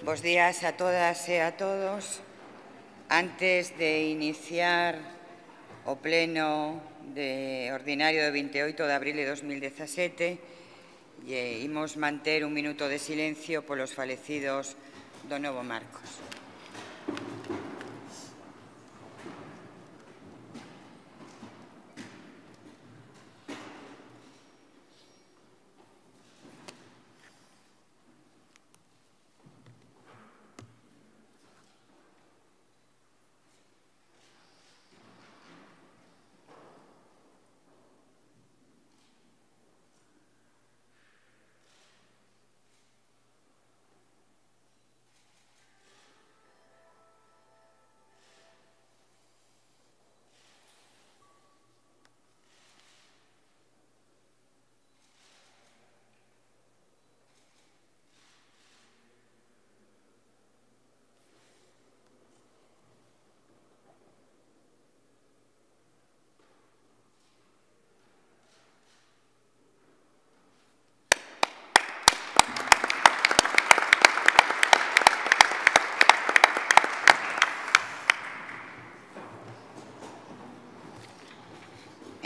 Bos días a todas e a todos. Antes de iniciar o pleno ordinario do 28 de abril de 2017, imos manter un minuto de silencio polos falecidos do Novo Marcos.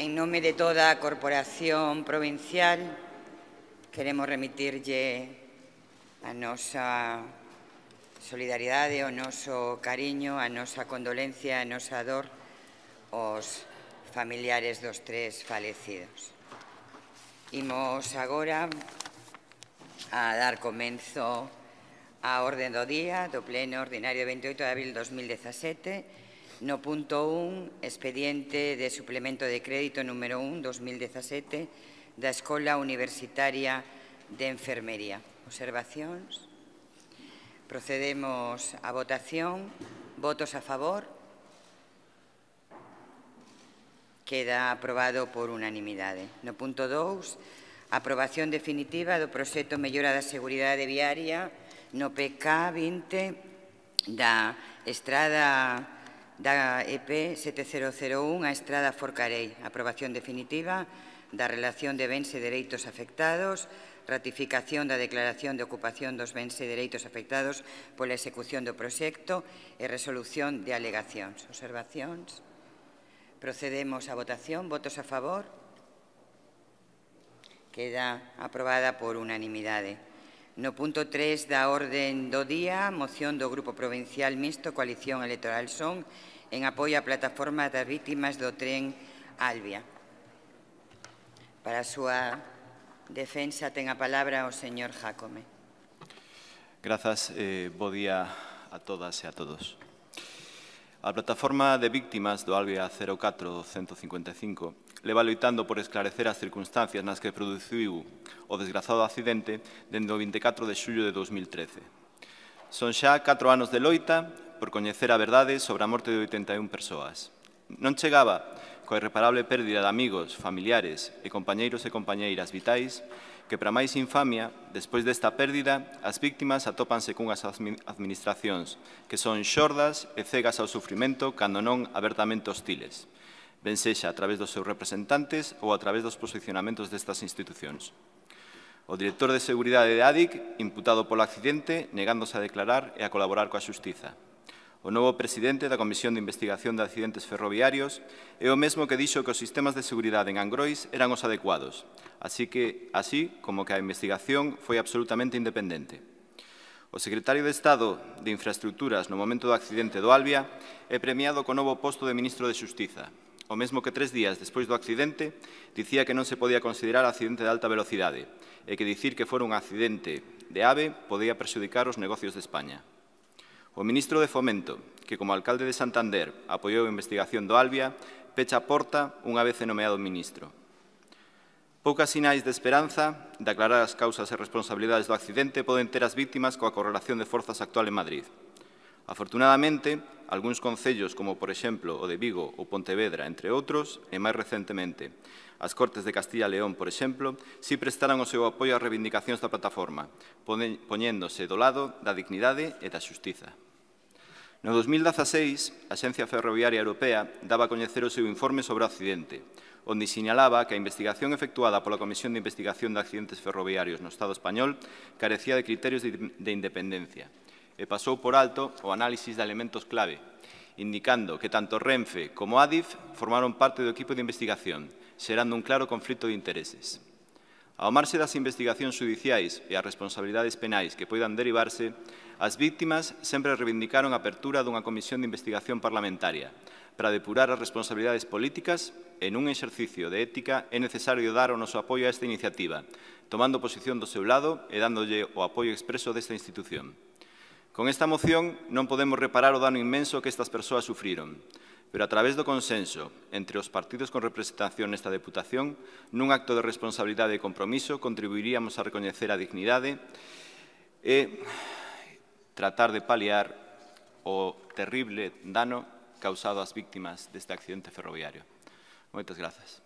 En nome de toda a Corporación Provincial, queremos remitirlle a nosa solidaridade, o noso cariño, a nosa condolencia, a nosa dor aos familiares dos tres falecidos. Imos agora a dar comenzo á orde do día do pleno ordinario de 28 de abril de 2017. No punto 1, expediente de suplemento de crédito número 1, 2017, da Escola Universitaria de Enfermería. Observacións? Procedemos á votación. Votos a favor? Queda aprobado por unanimidade. No punto 2, aprobación definitiva do proxecto Mellora da Seguridade Viaria no PK 20 da estrada da EP 7001 a Estrada Forcarei. Aprobación definitiva da relación de bens e dereitos afectados, ratificación da declaración de ocupación dos bens e dereitos afectados pola execución do proxecto e resolución de alegacións. Observacións? Procedemos á votación. Votos a favor? Queda aprobada por unanimidade. No punto 3 da orden do día, moción do Grupo Provincial Mixto Coalición Electoral Son en apoio á plataforma das vítimas do tren Albia. Para a súa defensa ten a palabra o señor Jácome. Grazas, bo día a todas e a todos. A plataforma de víctimas do Albia 04-155 leva loitando por esclarecer as circunstancias nas que produciu o desgrazado accidente dende o 24 de xullo de 2013. Son xa 4 anos de loita por coñecer a verdade sobre a morte de 81 persoas. Non chegaba coa irreparable pérdida de amigos, familiares e compañeiros e compañeiras vitais que, para máis infamia, despois desta pérdida, as víctimas atópanse cunhas administracións que son xordas e cegas ao sufrimento cando non abertamente hostiles, ben sexa a través dos seus representantes ou a través dos posicionamentos destas institucións. O director de Seguridade de ADIC, imputado polo accidente, negándose a declarar e a colaborar coa xustiza. O novo presidente da Comisión de Investigación de Accidentes Ferroviarios é o mesmo que dixo que os sistemas de seguridade en Angrois eran os adecuados, así como que a investigación foi absolutamente independente. O secretario de Estado de Infraestructuras no momento do accidente do Albia é premiado co novo posto de ministro de Xustiza, o mesmo que 3 días despois do accidente dicía que non se podía considerar accidente de alta velocidade e que dicir que fora un accidente de AVE podía prexudicar os negocios de España. O ministro de Fomento, que como alcalde de Santander apoiou a investigación do Albia, pecha a porta unha vez nomeado ministro. Poucas sinais de esperanza de aclarar as causas e responsabilidades do accidente poden ter as víctimas coa correlación de forzas actual en Madrid. Afortunadamente, algúns concellos, como por exemplo o de Vigo ou Pontevedra, entre outros, e máis recentemente as Cortes de Castilla e León, por exemplo, si prestaron o seu apoio ás reivindicacións da plataforma, poñéndose do lado da dignidade e da xustiza. No 2016, a Axencia Ferroviaria Europea daba a coñecer o seu informe sobre o accidente, onde sinalaba que a investigación efectuada pola Comisión de Investigación de Accidentes Ferroviarios no Estado español carecía de criterios de independencia e pasou por alto o análisis de elementos clave, indicando que tanto Renfe como Adif formaron parte do equipo de investigación, xerando un claro conflito de intereses. Ao marxe das investigacións judiciais e as responsabilidades penais que poidan derivarse, as víctimas sempre reivindicaron a apertura dunha comisión de investigación parlamentaria para depurar as responsabilidades políticas e nun exercicio de ética é necesario dar o noso apoio a esta iniciativa, tomando posición do seu lado e dándolle o apoio expreso desta institución. Con esta moción non podemos reparar o dano inmenso que estas persoas sufriron, pero a través do consenso entre os partidos con representación nesta Deputación, nun acto de responsabilidade e compromiso, contribuiríamos a recoñecer a dignidade e tratar de paliar o terrible dano causado ás víctimas deste accidente ferroviario. Moitas grazas.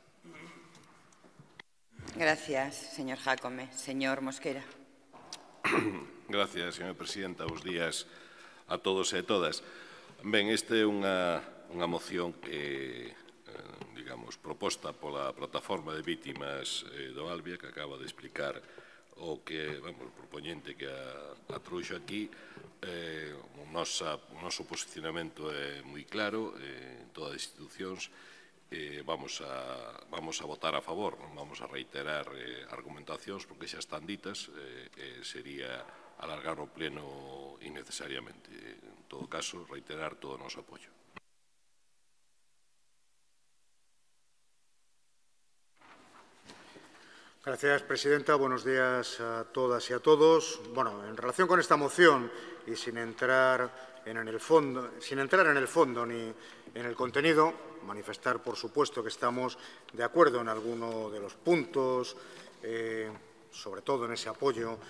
Gracias, señor Jácome. Señor Mosquera. Gracias, señora presidenta. Bos días a todos e a todas. Ben, esta é unha moción que, digamos, proposta pola Plataforma de Vítimas do Albia, que acaba de explicar o que, vamos, o propoñente que a trouxo aquí. O noso posicionamento é moi claro en todas as institucións. Vamos a votar a favor, non vamos a reiterar argumentacións porque xa están ditas, sería alargar o pleno innecesariamente. En todo caso, reiterar todo o noso apoio. Gracias, presidenta. Buenos días a todas y a todos. Bueno, en relación con esta moción y sin entrar en el fondo ni en el contenido, manifestar, por supuesto, que estamos de acuerdo en alguno de los puntos, sobre todo en ese apoyo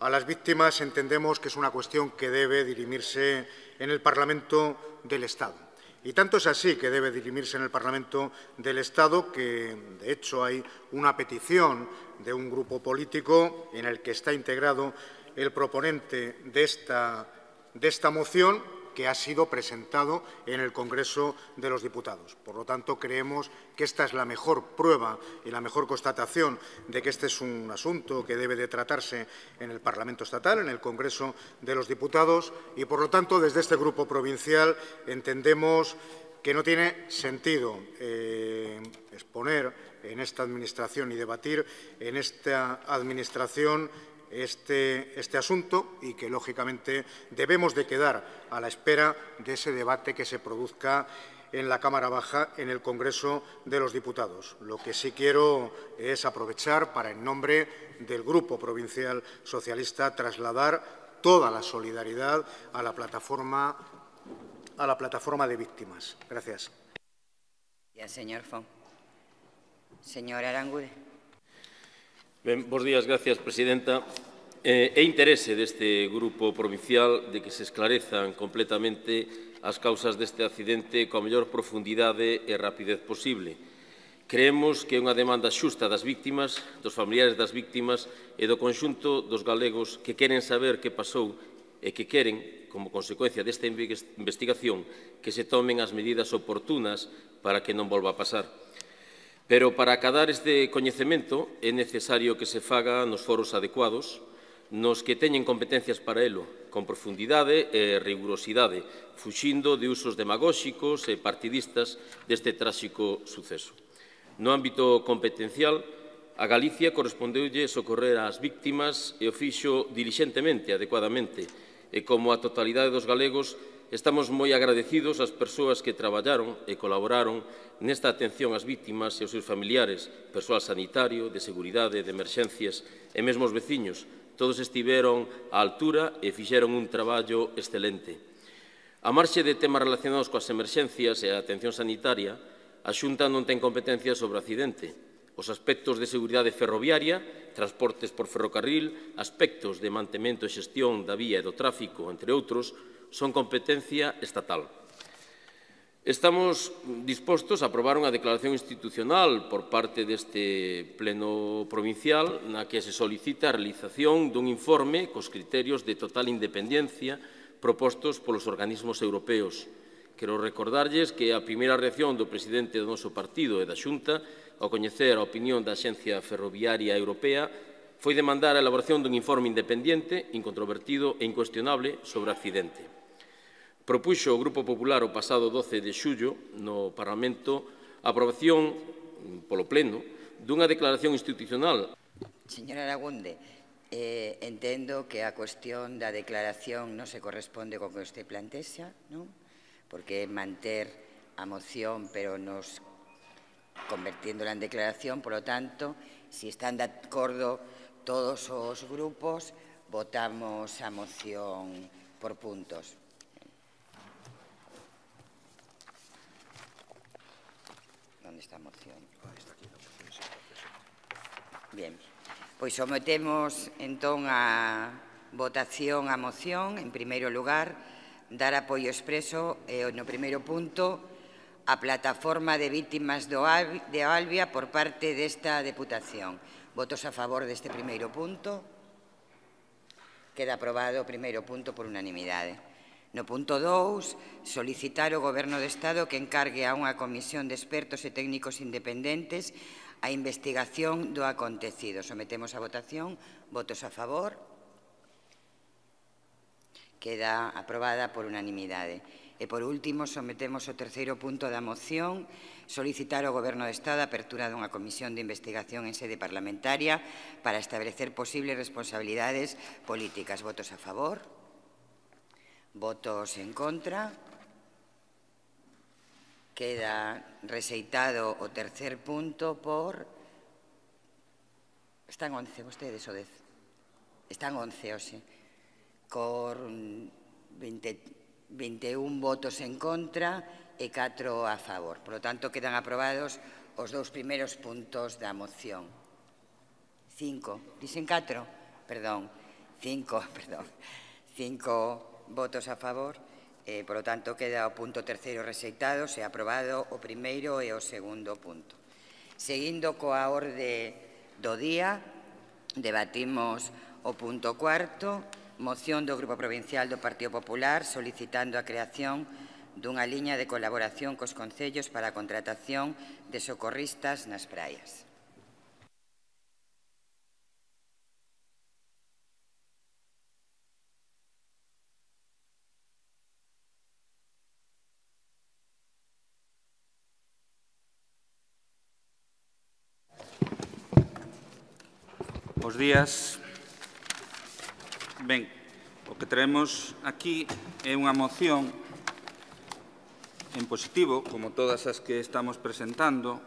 a las víctimas. Entendemos que es una cuestión que debe dirimirse en el Parlamento del Estado. Y tanto es así que debe dirimirse en el Parlamento del Estado que, de hecho, hay una petición de un grupo político en el que está integrado el proponente de esta moción, que ha sido presentado en el Congreso de los Diputados. Por lo tanto, creemos que esta es la mejor prueba y la mejor constatación de que este es un asunto que debe de tratarse en el Parlamento Estatal, en el Congreso de los Diputados, y, por lo tanto, desde este Grupo provincial entendemos que no tiene sentido exponer en esta Administración y debatir en esta Administración este asunto y que, lógicamente, debemos de quedar a la espera de ese debate que se produzca en la Cámara Baja, en el Congreso de los Diputados. Lo que sí quiero es aprovechar para, en nombre del Grupo Provincial Socialista, trasladar toda la solidaridad a la plataforma de víctimas. Gracias. Gracias, señor Font. Señor Arangude. Ben, bos días, gracias, presidenta. É interese deste Grupo Provincial de que se esclarezan completamente as causas deste accidente coa mellor profundidade e rapidez posible. Creemos que é unha demanda xusta das víctimas, dos familiares das víctimas e do conxunto dos galegos que queren saber que pasou e que queren, como consecuencia desta investigación, que se tomen as medidas oportunas para que non volva a pasar. Pero para acadar este coñecemento é necesario que se faga nos foros adecuados, nos que teñen competencias para elo, con profundidade e rigurosidade, fuxindo de usos demagóxicos e partidistas deste tráxico suceso. No ámbito competencial, a Galicia correspondeulle socorrer ás víctimas e o fixo dilixentemente, adecuadamente, e como a totalidade dos galegos, estamos moi agradecidos ás persoas que traballaron e colaboraron nesta atención ás víctimas e aos seus familiares, persoal sanitario, de seguridade, de emerxencias e mesmo os veciños. Todos estiveron á altura e fixeron un traballo excelente. A marxe de temas relacionados coas emerxencias e a atención sanitaria, a Xunta non ten competencia sobre o accidente. Os aspectos de seguridade ferroviaria, transportes por ferrocarril, aspectos de mantemento e xestión da vía e do tráfico, entre outros, son competencia estatal. Estamos dispostos a aprobar unha declaración institucional por parte deste Pleno Provincial na que se solicita a realización dun informe cos criterios de total independencia propostos polos organismos europeos. Quero recordarlles que a primeira reacción do presidente do noso partido e da Xunta ao coñecer a opinión da Axencia Ferroviaria Europea foi demandar a elaboración dun informe independente, incontrovertido e incuestionable sobre o accidente. Propuxo o Grupo Popular o pasado 12 de xullo no Parlamento a aprobación polo Pleno dunha declaración institucional. Señora Lagunde, entendo que a cuestión da declaración non se corresponde co que usted plantexa, non? Porque é manter a moción, pero nos convertiéndola en declaración, por lo tanto, si están de acordo todos os grupos, votamos a moción por puntos. Onde está a moción? Bien. Pois sometemos entón a votación a moción. En primeiro lugar, dar apoio expreso no primeiro punto a plataforma de vítimas de Albia por parte desta Deputación. Votos a favor deste primeiro punto. Queda aprobado o primeiro punto por unanimidade. No punto 2, solicitar ao Goberno do Estado que encargue a unha comisión de expertos e técnicos independentes a investigación do acontecido. Sometemos a votación. Votos a favor. Queda aprobada por unanimidade. E, por último, sometemos o terceiro punto da moción, solicitar ao Goberno do Estado a apertura dunha comisión de investigación en sede parlamentaria para establecer posibles responsabilidades políticas. Votos a favor. Votos en contra. Queda rexeitado o tercer punto por... Están 11 vostedes ou 10? Están 11 hoxe. Con 21 votos en contra e 4 a favor. Por lo tanto, quedan aprobados os dous primeiros puntos da moción. 5. Dixen 4? Perdón. 5 votos a favor. Por lo tanto, queda o punto terceiro rexeitado, se ha aprobado o primeiro e o segundo punto. Seguindo coa orde do día, debatimos o punto cuarto, moción do Grupo Provincial do Partido Popular solicitando a creación dunha liña de colaboración cos concellos para a contratación de socorristas nas praias. Bos días. Ben, o que traemos aquí é unha moción en positivo, como todas as que estamos presentando,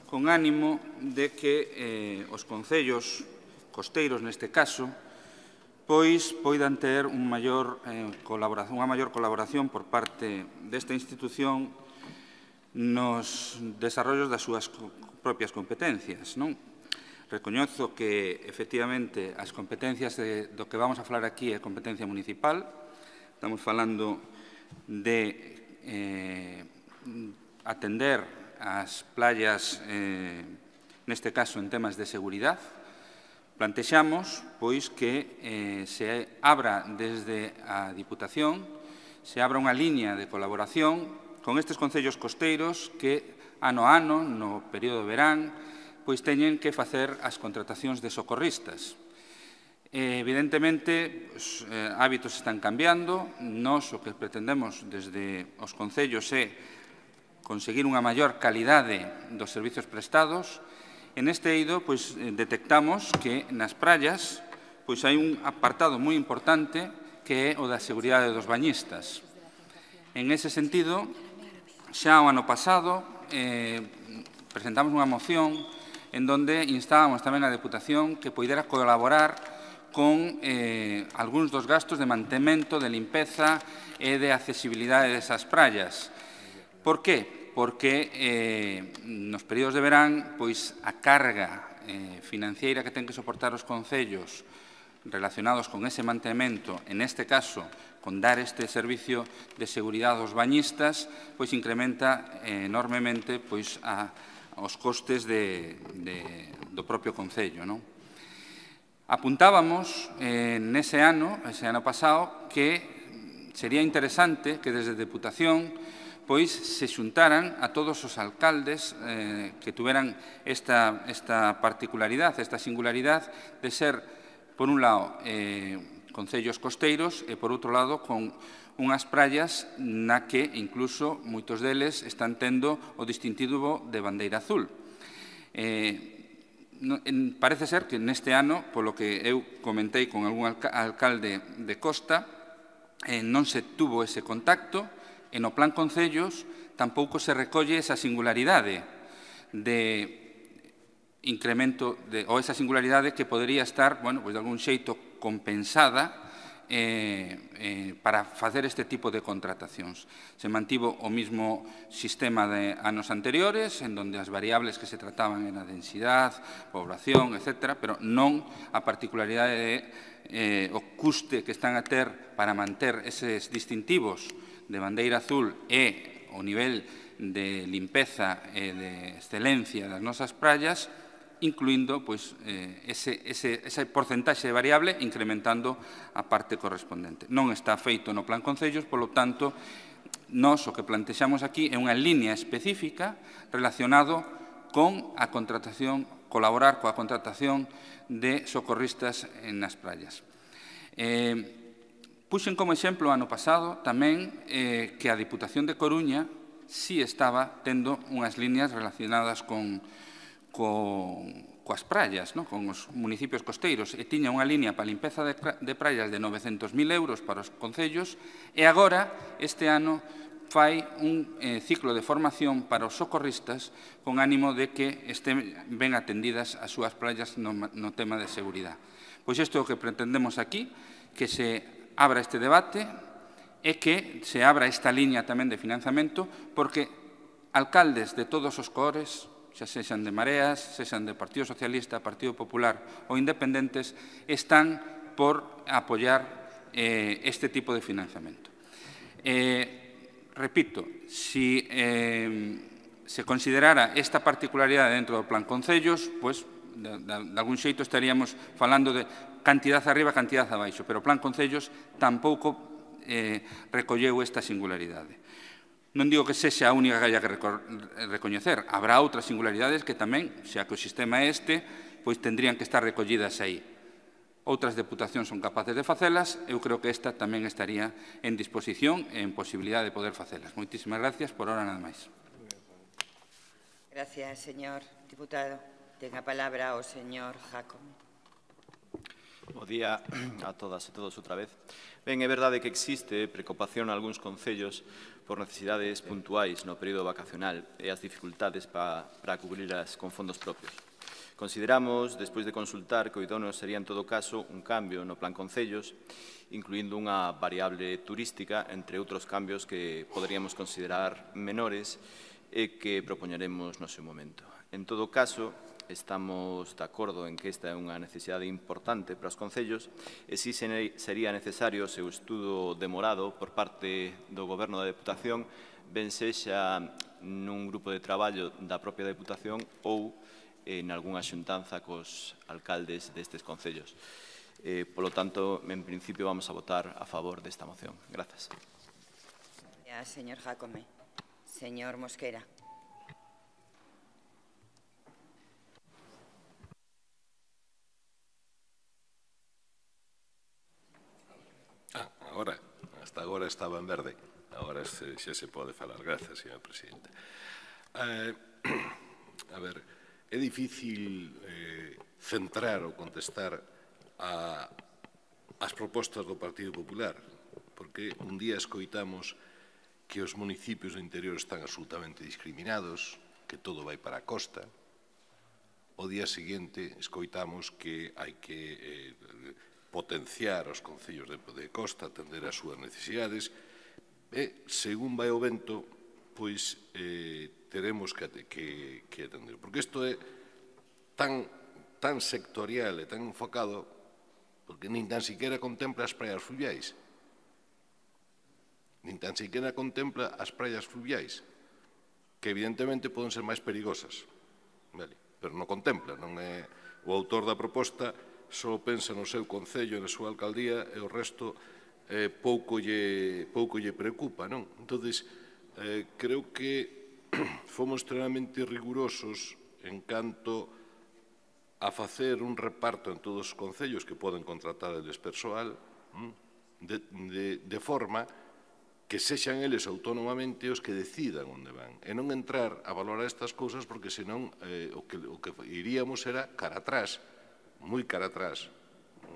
con ánimo de que os concellos costeiros, neste caso, pois poidan ter unha maior colaboración por parte desta institución nos desarrollos das súas propias competencias, non? Recoñezo que, efectivamente, as competencias do que vamos a falar aquí é competencia municipal. Estamos falando de atender as playas, neste caso, en temas de seguridade. Plantexamos, pois, que se abra desde a Diputación, se abra unha liña de colaboración con estes concellos costeiros que, ano a ano, no período de verán, pois teñen que facer as contratacións de socorristas. Evidentemente, os hábitos están cambiando. Nós o que pretendemos desde os concellos é conseguir unha maior calidade dos servizos prestados. En este eido, pois, detectamos que nas praias pois hai un apartado moi importante que é o da seguridade dos bañistas. En ese sentido, xa o ano pasado presentamos unha moción en donde instábamos tamén a Deputación que poidera colaborar con algúns dos gastos de mantemento, de limpeza e de accesibilidade desas praias. Por qué? Porque nos períodos de verán, pois a carga financiera que ten que soportar os concellos relacionados con ese mantemento, en este caso, con dar este servicio de seguridade aos bañistas, pois incrementa enormemente pois os costes do propio concello, non? Apuntábamos ese ano pasado, que sería interesante que desde Deputación pois se xuntaran a todos os alcaldes que tuveran esta particularidade, esta singularidade de ser, por un lado, concellos costeiros e, por outro lado, con unhas praias na que incluso moitos deles están tendo o distintivo de bandeira azul. Parece ser que neste ano, polo que eu comentei con algún alcalde de Costa, non se tuvo ese contacto e no plan concellos tampouco se recolle esa singularidade de incremento ou esa singularidade que podería estar, bueno, pois de algún xeito compensada para facer este tipo de contratacións. Se mantivo o mismo sistema de anos anteriores, en donde as variables que se trataban eran a densidade, población, etc., pero non a particularidade o custe que están a ter para manter eses distintivos de bandeira azul e o nivel de limpeza e de excelencia das nosas praias, incluindo ese porcentaxe de variable incrementando a parte correspondente. Non está feito no plan concellos, polo tanto, nós o que plantexamos aquí é unha línea específica relacionado con a contratación, colaborar coa contratación de socorristas nas praias. Puxen como exemplo ano pasado tamén que a Diputación de Coruña sí estaba tendo unhas líneas relacionadas coas praias, con os municipios costeiros, e tiña unha línea para a limpeza de praias de 900.000 euros para os concellos, e agora, este ano, fai un ciclo de formación para os socorristas con ánimo de que estén ben atendidas as súas praias no tema de seguridade. Pois isto é o que pretendemos aquí, que se abra este debate e que se abra esta liña tamén de financiamento, porque alcaldes de todos os cores, xa sexan de Mareas, sexan de Partido Socialista, Partido Popular ou independentes, están por apoiar este tipo de financiamento. Repito, si se considerara esta particularidade dentro do plan concellos, pois, de algún xeito estaríamos falando de cantidad arriba, cantidad abaixo, pero o plan concellos tampouco recolleu esta singularidade. Non digo que sexa a única que haya que recoñecer, habrá outras singularidades que tamén, xa que o sistema é este, pois tendrían que estar recollidas aí. Outras deputacións son capaces de facelas, eu creo que esta tamén estaría en disposición e en posibilidade de poder facelas. Moitísimas gracias, por hora nada máis. Gracias, señor diputado. Ten a palabra o señor Jácome. Bo día a todas e todos outra vez. Ben, é verdade que existe preocupación en algúns concellos por necesidades puntuais no período vacacional e as dificultades para cubrirlas con fondos propios. Consideramos, despois de consultar, que o idóneo sería en todo caso un cambio no plan concellos, incluindo unha variable turística, entre outros cambios que poderíamos considerar menores e que propoñeremos no seu momento. En todo caso, estamos de acordo en que esta é unha necesidade importante para os concellos e si sería necesario o seu estudo demorado por parte do Goberno da Deputación, ben sexa nun grupo de traballo da propia Deputación ou en algunha xuntanza cos alcaldes destes concellos. Polo tanto, en principio, vamos a votar a favor desta moción. Grazas. Gracias, señor Jácome. Señor Mosquera. Hasta agora estaba en verde. Agora xa se pode falar. Grazas, señor presidente. A ver, é difícil centrar ou contestar as propostas do Partido Popular, porque un día escoitamos que os municipios do interior están absolutamente discriminados, que todo vai para a costa. O día seguinte escoitamos que hai que potenciar os concellos de costa, atender as súas necesidades, e, según vai o vento, pois teremos que atender. Porque isto é tan sectorial e tan enfocado, porque nin tan siquiera contempla as praias fluviais. Nin tan siquiera contempla as praias fluviais, que evidentemente poden ser máis perigosas, pero non contempla. O autor da proposta só pensa no seu concello e na súa alcaldía e o resto pouco lle preocupa, non? Entón, creo que fomos extremamente rigurosos en canto a facer un reparto en todos os concellos que poden contratar eles persoal de forma que sexan eles autónomamente os que decidan onde van e non entrar a valorar estas cousas porque senón o que iríamos era cara atrás, moi cara atrás,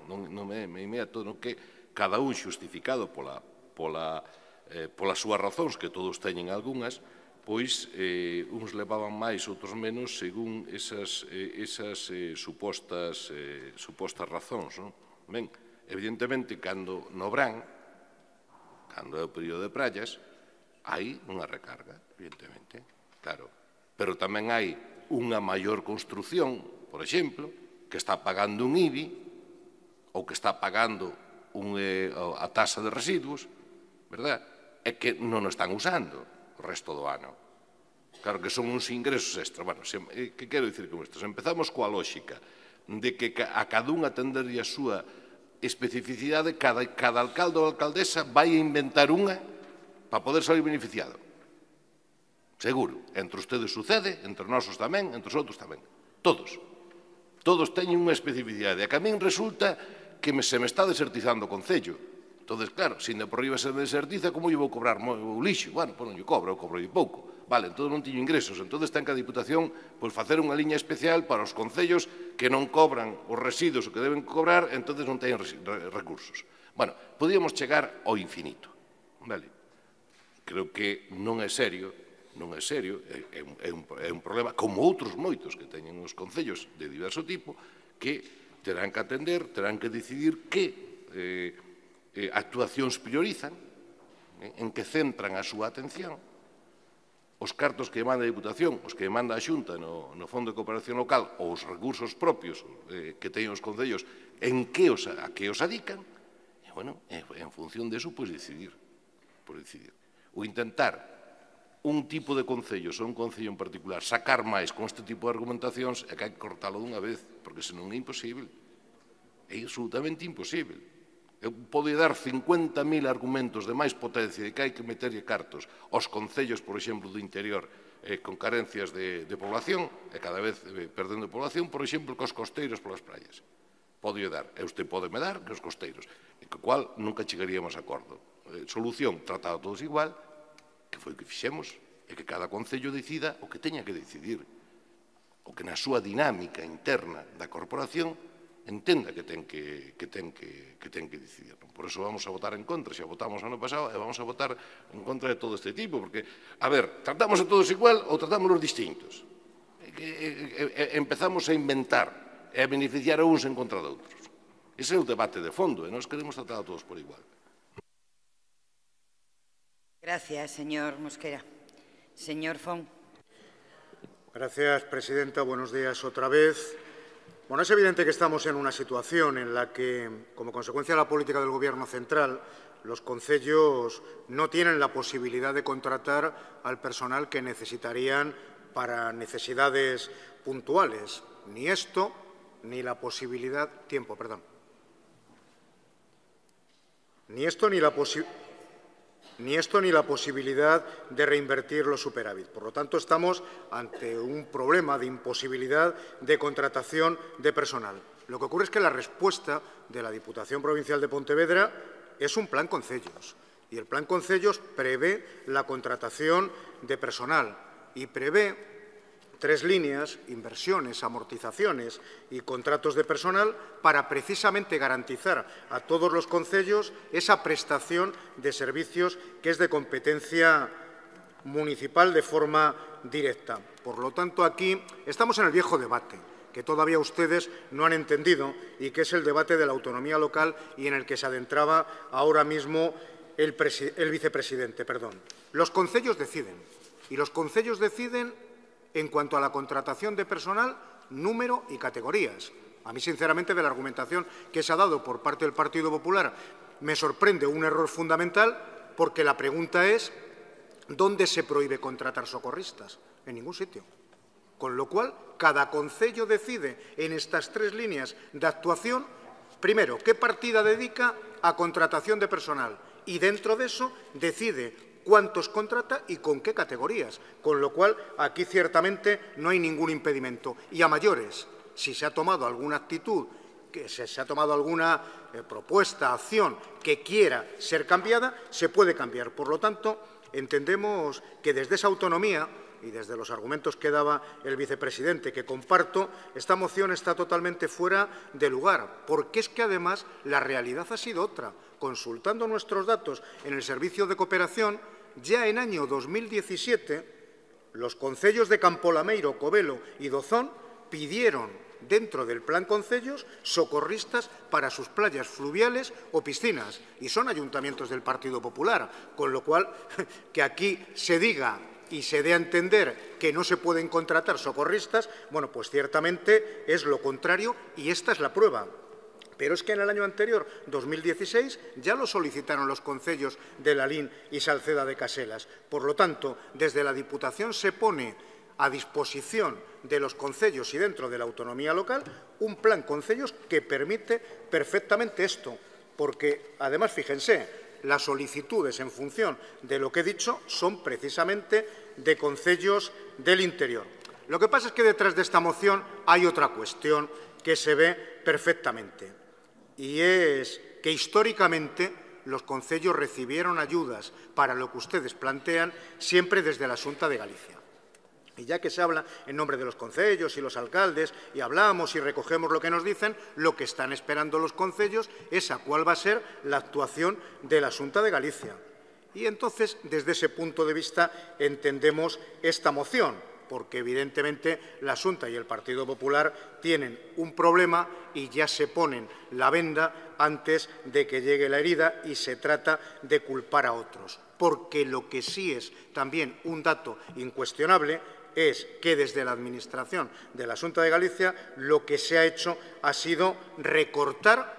non é inmediato, non que cada un xustificado polas súas razóns, que todos teñen algunhas, pois uns levaban máis, outros menos, según esas supostas razóns. Ben, evidentemente, cando no verán, cando é o período de praias, hai unha recarga, evidentemente, claro. Pero tamén hai unha maior construción, por exemplo, que está pagando un IBI ou que está pagando a tasa de residuos, verdad? E que non o están usando o resto do ano. Claro que son uns ingresos extra. Bueno, que quero dicir con isto? Se empezamos coa lógica de que a cada un atendería a súa especificidade, cada alcalde ou alcaldesa vai a inventar unha para poder salir beneficiado. Seguro. Entre ustedes sucede, entre nosos tamén, entre os outros tamén. Todos. Todos teñen unha especificidade. E que a min resulta que se me está desertizando o concello. Entón, claro, se ainda por riba se me desertiza, como eu vou cobrar o lixo? Bueno, non lle cobro, eu cobro pouco. Vale, entón non tiño ingresos. Entón, ten que a Diputación facer unha liña especial para os concellos que non cobran os residuos que deben cobrar, entón non teñen recursos. Bueno, podíamos chegar ao infinito. Vale? Creo que non é serio, é un problema, como outros moitos que teñen os concellos de diverso tipo, que terán que atender, terán que decidir que actuacións priorizan, en que centran a súa atención, os cartos que manda a Diputación, os que manda a Xunta no Fondo de Cooperación Local ou os recursos propios que teñen os concellos, a que os adican, e, bueno, en función de eso, pois decidir. O intentar un tipo de concellos ou un concello en particular sacar máis con este tipo de argumentacións é que hai que cortalo dunha vez, porque senón é imposible. É absolutamente imposible. Eu podo dar 50.000 argumentos de máis potencia de que hai que meterlle cartos aos concellos, por exemplo, do interior con carencias de población, e cada vez perdendo población, por exemplo, cos costeiros polas praias. Podo dar, e usted pode me dar, que os costeiros, e co cual nunca chegaríamos a acordo. Solución, tratado todos igual, que foi o que fixemos, e que cada concello decida o que teña que decidir, o que na súa dinámica interna da corporación entenda que ten que decidir. Por eso vamos a votar en contra, xa votamos ano pasado, e vamos a votar en contra de todo este tipo, porque, a ver, tratamos a todos igual ou tratamos los distintos? Empezamos a inventar e a beneficiar a uns en contra de outros. Ese é o debate de fondo, e nós queremos tratar a todos por igual. Gracias, señor Mosquera. Señor Font. Gracias, presidenta. Buenos días otra vez. Bueno, es evidente que estamos en una situación en la que, como consecuencia de la política del Gobierno central, los concellos no tienen la posibilidad de contratar al personal que necesitarían para necesidades puntuales. Ni esto, ni la posibilidad... Tiempo, perdón. Ni esto, ni la posibilidad de reinvertir los superávit. Por lo tanto, estamos ante un problema de imposibilidad de contratación de personal. Lo que ocurre es que la respuesta de la Diputación Provincial de Pontevedra es un plan concellos. Y el plan concellos prevé la contratación de personal y prevé 3 líneas, inversiones, amortizaciones y contratos de personal para precisamente garantizar a todos los concellos esa prestación de servicios que es de competencia municipal de forma directa. Por lo tanto, aquí estamos en el viejo debate que todavía ustedes no han entendido y que es el debate de la autonomía local y en el que se adentraba ahora mismo el vicepresidente. Los concellos deciden y los concellos deciden en cuanto a la contratación de personal, número y categorías. A mí, sinceramente, de la argumentación que se ha dado por parte del Partido Popular, me sorprende un error fundamental, porque la pregunta es ¿dónde se prohíbe contratar socorristas? En ningún sitio. Con lo cual, cada concello decide en estas 3 líneas de actuación, primero, qué partida dedica a contratación de personal y dentro de eso decide cuántos contrata y con qué categorías, con lo cual aquí ciertamente no hay ningún impedimento. Y a mayores, si se ha tomado alguna actitud, que se ha tomado alguna propuesta, acción que quiera ser cambiada, se puede cambiar. Por lo tanto, entendemos que desde esa autonomía y desde los argumentos que daba el vicepresidente, que comparto, esta moción está totalmente fuera de lugar, porque es que además la realidad ha sido otra. Consultando nuestros datos en el Servicio de Cooperación, ya en año 2017, los concellos de Campolameiro, Covelo y Dozón pidieron dentro del Plan Concellos socorristas para sus playas fluviales o piscinas, y son ayuntamientos del Partido Popular, con lo cual que aquí se diga y se dé a entender que no se pueden contratar socorristas, bueno, pues ciertamente es lo contrario y esta es la prueba. Pero es que en el año anterior, 2016, ya lo solicitaron los concellos de Lalín y Salceda de Caselas. Por lo tanto, desde la Diputación se pone a disposición de los concellos y dentro de la autonomía local un plan concellos que permite perfectamente esto. Porque, además, fíjense, las solicitudes en función de lo que he dicho son precisamente de concellos del interior. Lo que pasa es que detrás de esta moción hay otra cuestión que se ve perfectamente, y es que históricamente los concellos recibieron ayudas para lo que ustedes plantean siempre desde la Xunta de Galicia. Y ya que se habla en nombre de los concellos y los alcaldes y hablamos y recogemos lo que nos dicen, lo que están esperando los concellos es a cuál va a ser la actuación de la Xunta de Galicia. Y entonces, desde ese punto de vista, entendemos esta moción, porque evidentemente la Xunta y el Partido Popular tienen un problema y ya se ponen la venda antes de que llegue la herida y se trata de culpar a otros. Porque lo que sí es también un dato incuestionable es que desde la Administración de la Xunta de Galicia lo que se ha hecho ha sido recortar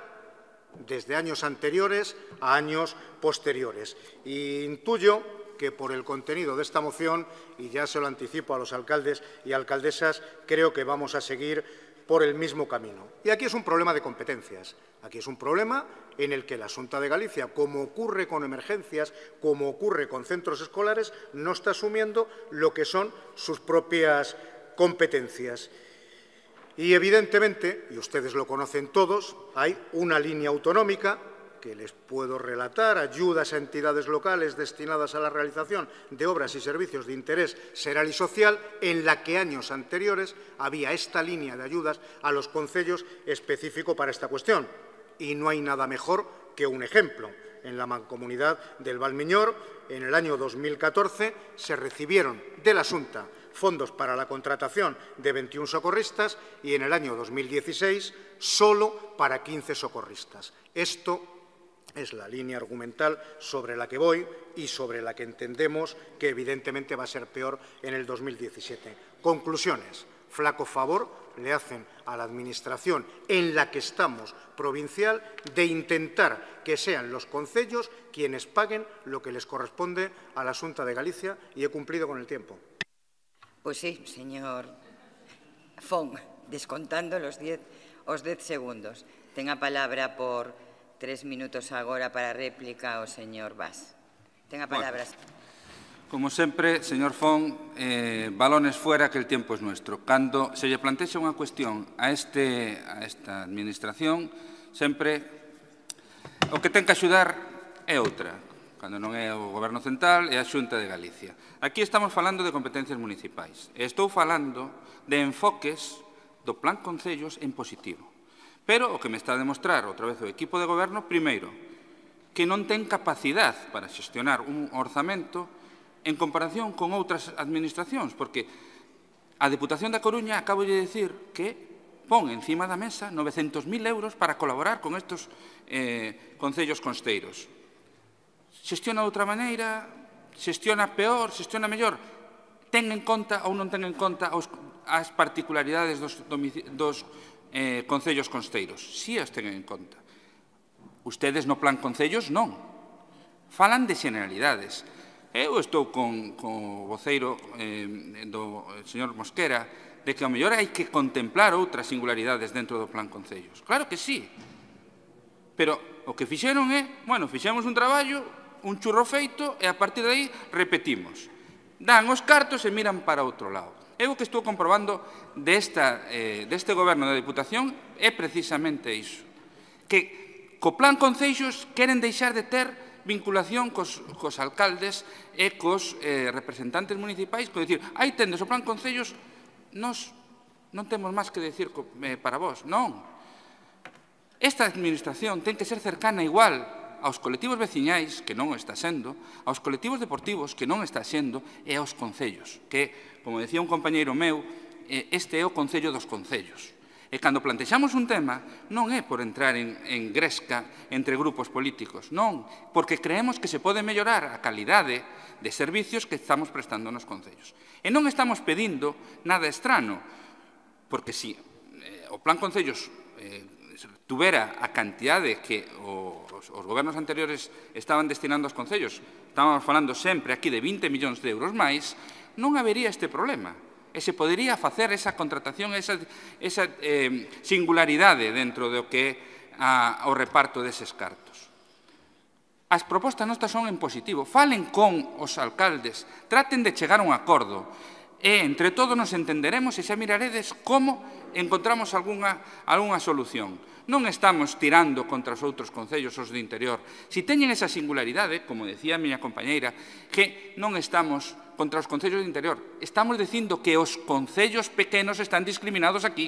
desde años anteriores a años posteriores. Y intuyo que por el contenido de esta moción, y ya se lo anticipo a los alcaldes y alcaldesas, creo que vamos a seguir por el mismo camino. Y aquí es un problema de competencias. Aquí es un problema en el que la Xunta de Galicia, como ocurre con emergencias, como ocurre con centros escolares, no está asumiendo lo que son sus propias competencias. Y evidentemente, y ustedes lo conocen todos, hay una línea autonómica que les puedo relatar, ayudas a entidades locales destinadas a la realización de obras y servicios de interés xeral y social, en la que años anteriores había esta línea de ayudas a los concellos específico para esta cuestión. Y no hay nada mejor que un ejemplo. En la Mancomunidad del Valmiñor, en el año 2014, se recibieron de la Xunta fondos para la contratación de 21 socorristas y en el año 2016 solo para 15 socorristas. Esto es la línea argumental sobre la que voy y sobre la que entendemos que evidentemente va a ser peor en el 2017. Conclusiones. Flaco favor le hacen a la Administración en la que estamos provincial de intentar que sean los concellos quienes paguen lo que les corresponde a la Xunta de Galicia, y he cumplido con el tiempo. Pues sí, señor Fon, descontando os 10 segundos. Ten a palabra por 3 minutos agora para réplica o señor Bas. Ten a palabra. Como sempre, señor Fon, balones fuera que el tiempo es nuestro. Cando se lle plantexa unha cuestión a esta administración, sempre o que ten que axudar é outra. Cando non é o Goberno Central, é a Xunta de Galicia. Aquí estamos falando de competencias municipais. Estou falando de enfoques do Plan Concellos en positivo. Pero o que me está a demostrar outra vez o equipo de goberno, primeiro, que non ten capacidade para xestionar un orzamento en comparación con outras administracións, porque a Deputación da Coruña acabo de dicir que pon encima da mesa 900.000 euros para colaborar con estes concellos costeiros. Xestiona de outra maneira, xestiona peor, xestiona mellor. Ten en conta ou non ten en conta as particularidades dos concellos costeiros? Si as ten en conta. Ustedes no plan concellos non. Falan de generalidades. Eu estou con o voceiro do señor Mosquera de que ao mellor hai que contemplar outras singularidades dentro do plan concellos. Claro que sí. Pero o que fixeron é, bueno, fixemos un traballo un churro feito e a partir de aí repetimos. Dan os cartos e miran para outro lado. Eu o que estou comprobando deste goberno da Diputación é precisamente iso. Que co plan concellos queren deixar de ter vinculación cos alcaldes e cos representantes municipais, con dicir, aí tendes o plan concellos, nós non temos máis que decir para vos. Non. Esta administración ten que ser cercana igual aos colectivos veciñais, que non está sendo, aos colectivos deportivos, que non está sendo, e aos concellos, que, como decía un compañeiro meu, este é o concello dos concellos. E cando plantexamos un tema, non é por entrar en gresca entre grupos políticos, non, porque creemos que se pode mellorar a calidade de servicios que estamos prestando nos concellos. E non estamos pedindo nada estrano, porque se o plan concellos tuvera a cantidade que os gobernos anteriores estaban destinando aos concellos, estábamos falando sempre aquí de 20 millóns de euros máis, non habería este problema. E se podería facer esa contratación, esa singularidade dentro do que é o reparto deses cartos. As propostas nostas son en positivo. Falen con os alcaldes, traten de chegar a un acordo. E entre todos nos entenderemos e xa miraredes como encontramos algunha solución. Non estamos tirando contra os outros concellos, os do interior. Si teñen esa singularidade, como decía a miña compañeira, que non estamos contra os concellos do interior. Estamos dicindo que os concellos pequenos están discriminados aquí,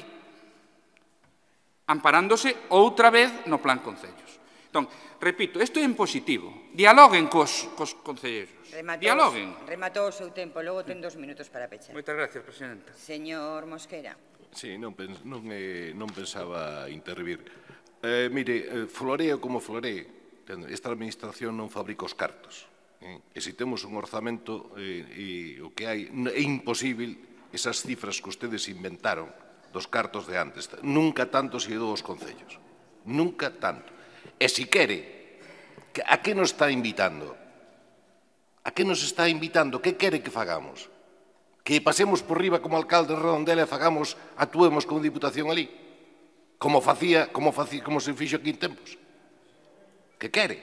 amparándose outra vez no plan concellos. Entón, repito, isto é en positivo. Dialoguen cos concelleiros. Dialoguen. Rematou o seu tempo, logo ten 2 minutos para pechar. Moitas gracias, presidenta. Señor Mosquera. Sí, non pensaba intervir. Mire, floreo como floree, esta administración non fabrica os cartos. E se temos un orzamento e o que hai, é imposible esas cifras que ustedes inventaron dos cartos de antes. Nunca tanto se dou aos concellos. Nunca tanto. E se quere, a que nos está invitando? A que nos está invitando? Que quere que fagamos? Que pasemos por riba como alcalde de Redondela e actuemos como diputación ali? Como se fixo aquí en tempos? Que quere?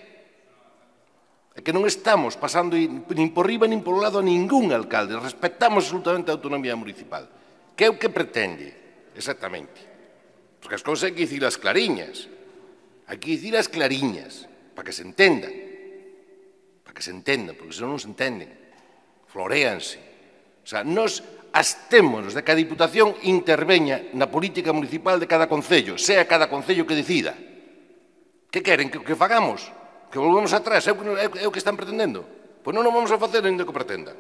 É que non estamos pasando nin por riba nin por lado a ningún alcalde. Respectamos absolutamente a autonomía municipal. Que é o que pretende? Exactamente. Porque as cousas hai que dicir as clariñas. Hai que dicir as clariñas, para que se entendan. Para que se entendan, porque senón non se entenden. Floréanse. O sea, nos abstémonos de que a Diputación interveña na política municipal de cada concello, sea cada concello que decida. Que queren? Que fagamos? Que volvemos atrás? É o que están pretendendo? Pois non o vamos a facer ainda que pretendan.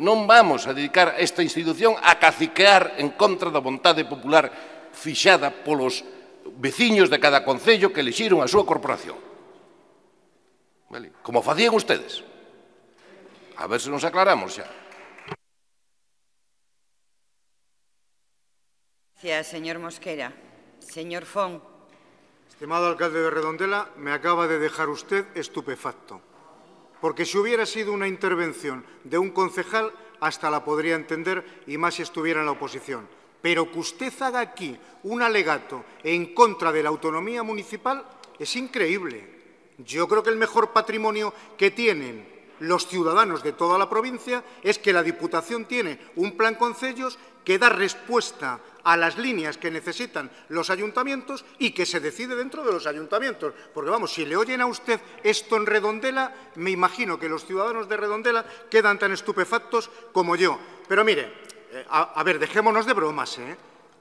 Non vamos a dedicar esta institución a caciquear en contra da vontade popular fixada polos veciños de cada concello que elixiron a súa corporación. Como facían ustedes. A ver se nos aclaramos xa. Gracias, señor Mosquera. Señor Fon. Estimado alcalde de Redondela, me acaba de dejar usted estupefacto. Porque si hubiera sido una intervención de un concejal, hasta la podría entender, y más si estuviera en la oposición. Pero que usted haga aquí un alegato en contra de la autonomía municipal es increíble. Yo creo que el mejor patrimonio que tienen los ciudadanos de toda la provincia es que la Diputación tiene un plan concellos que da respuesta a las líneas que necesitan los ayuntamientos y que se decide dentro de los ayuntamientos. Porque, vamos, si le oyen a usted esto en Redondela, me imagino que los ciudadanos de Redondela quedan tan estupefactos como yo. Pero mire, a ver, dejémonos de bromas,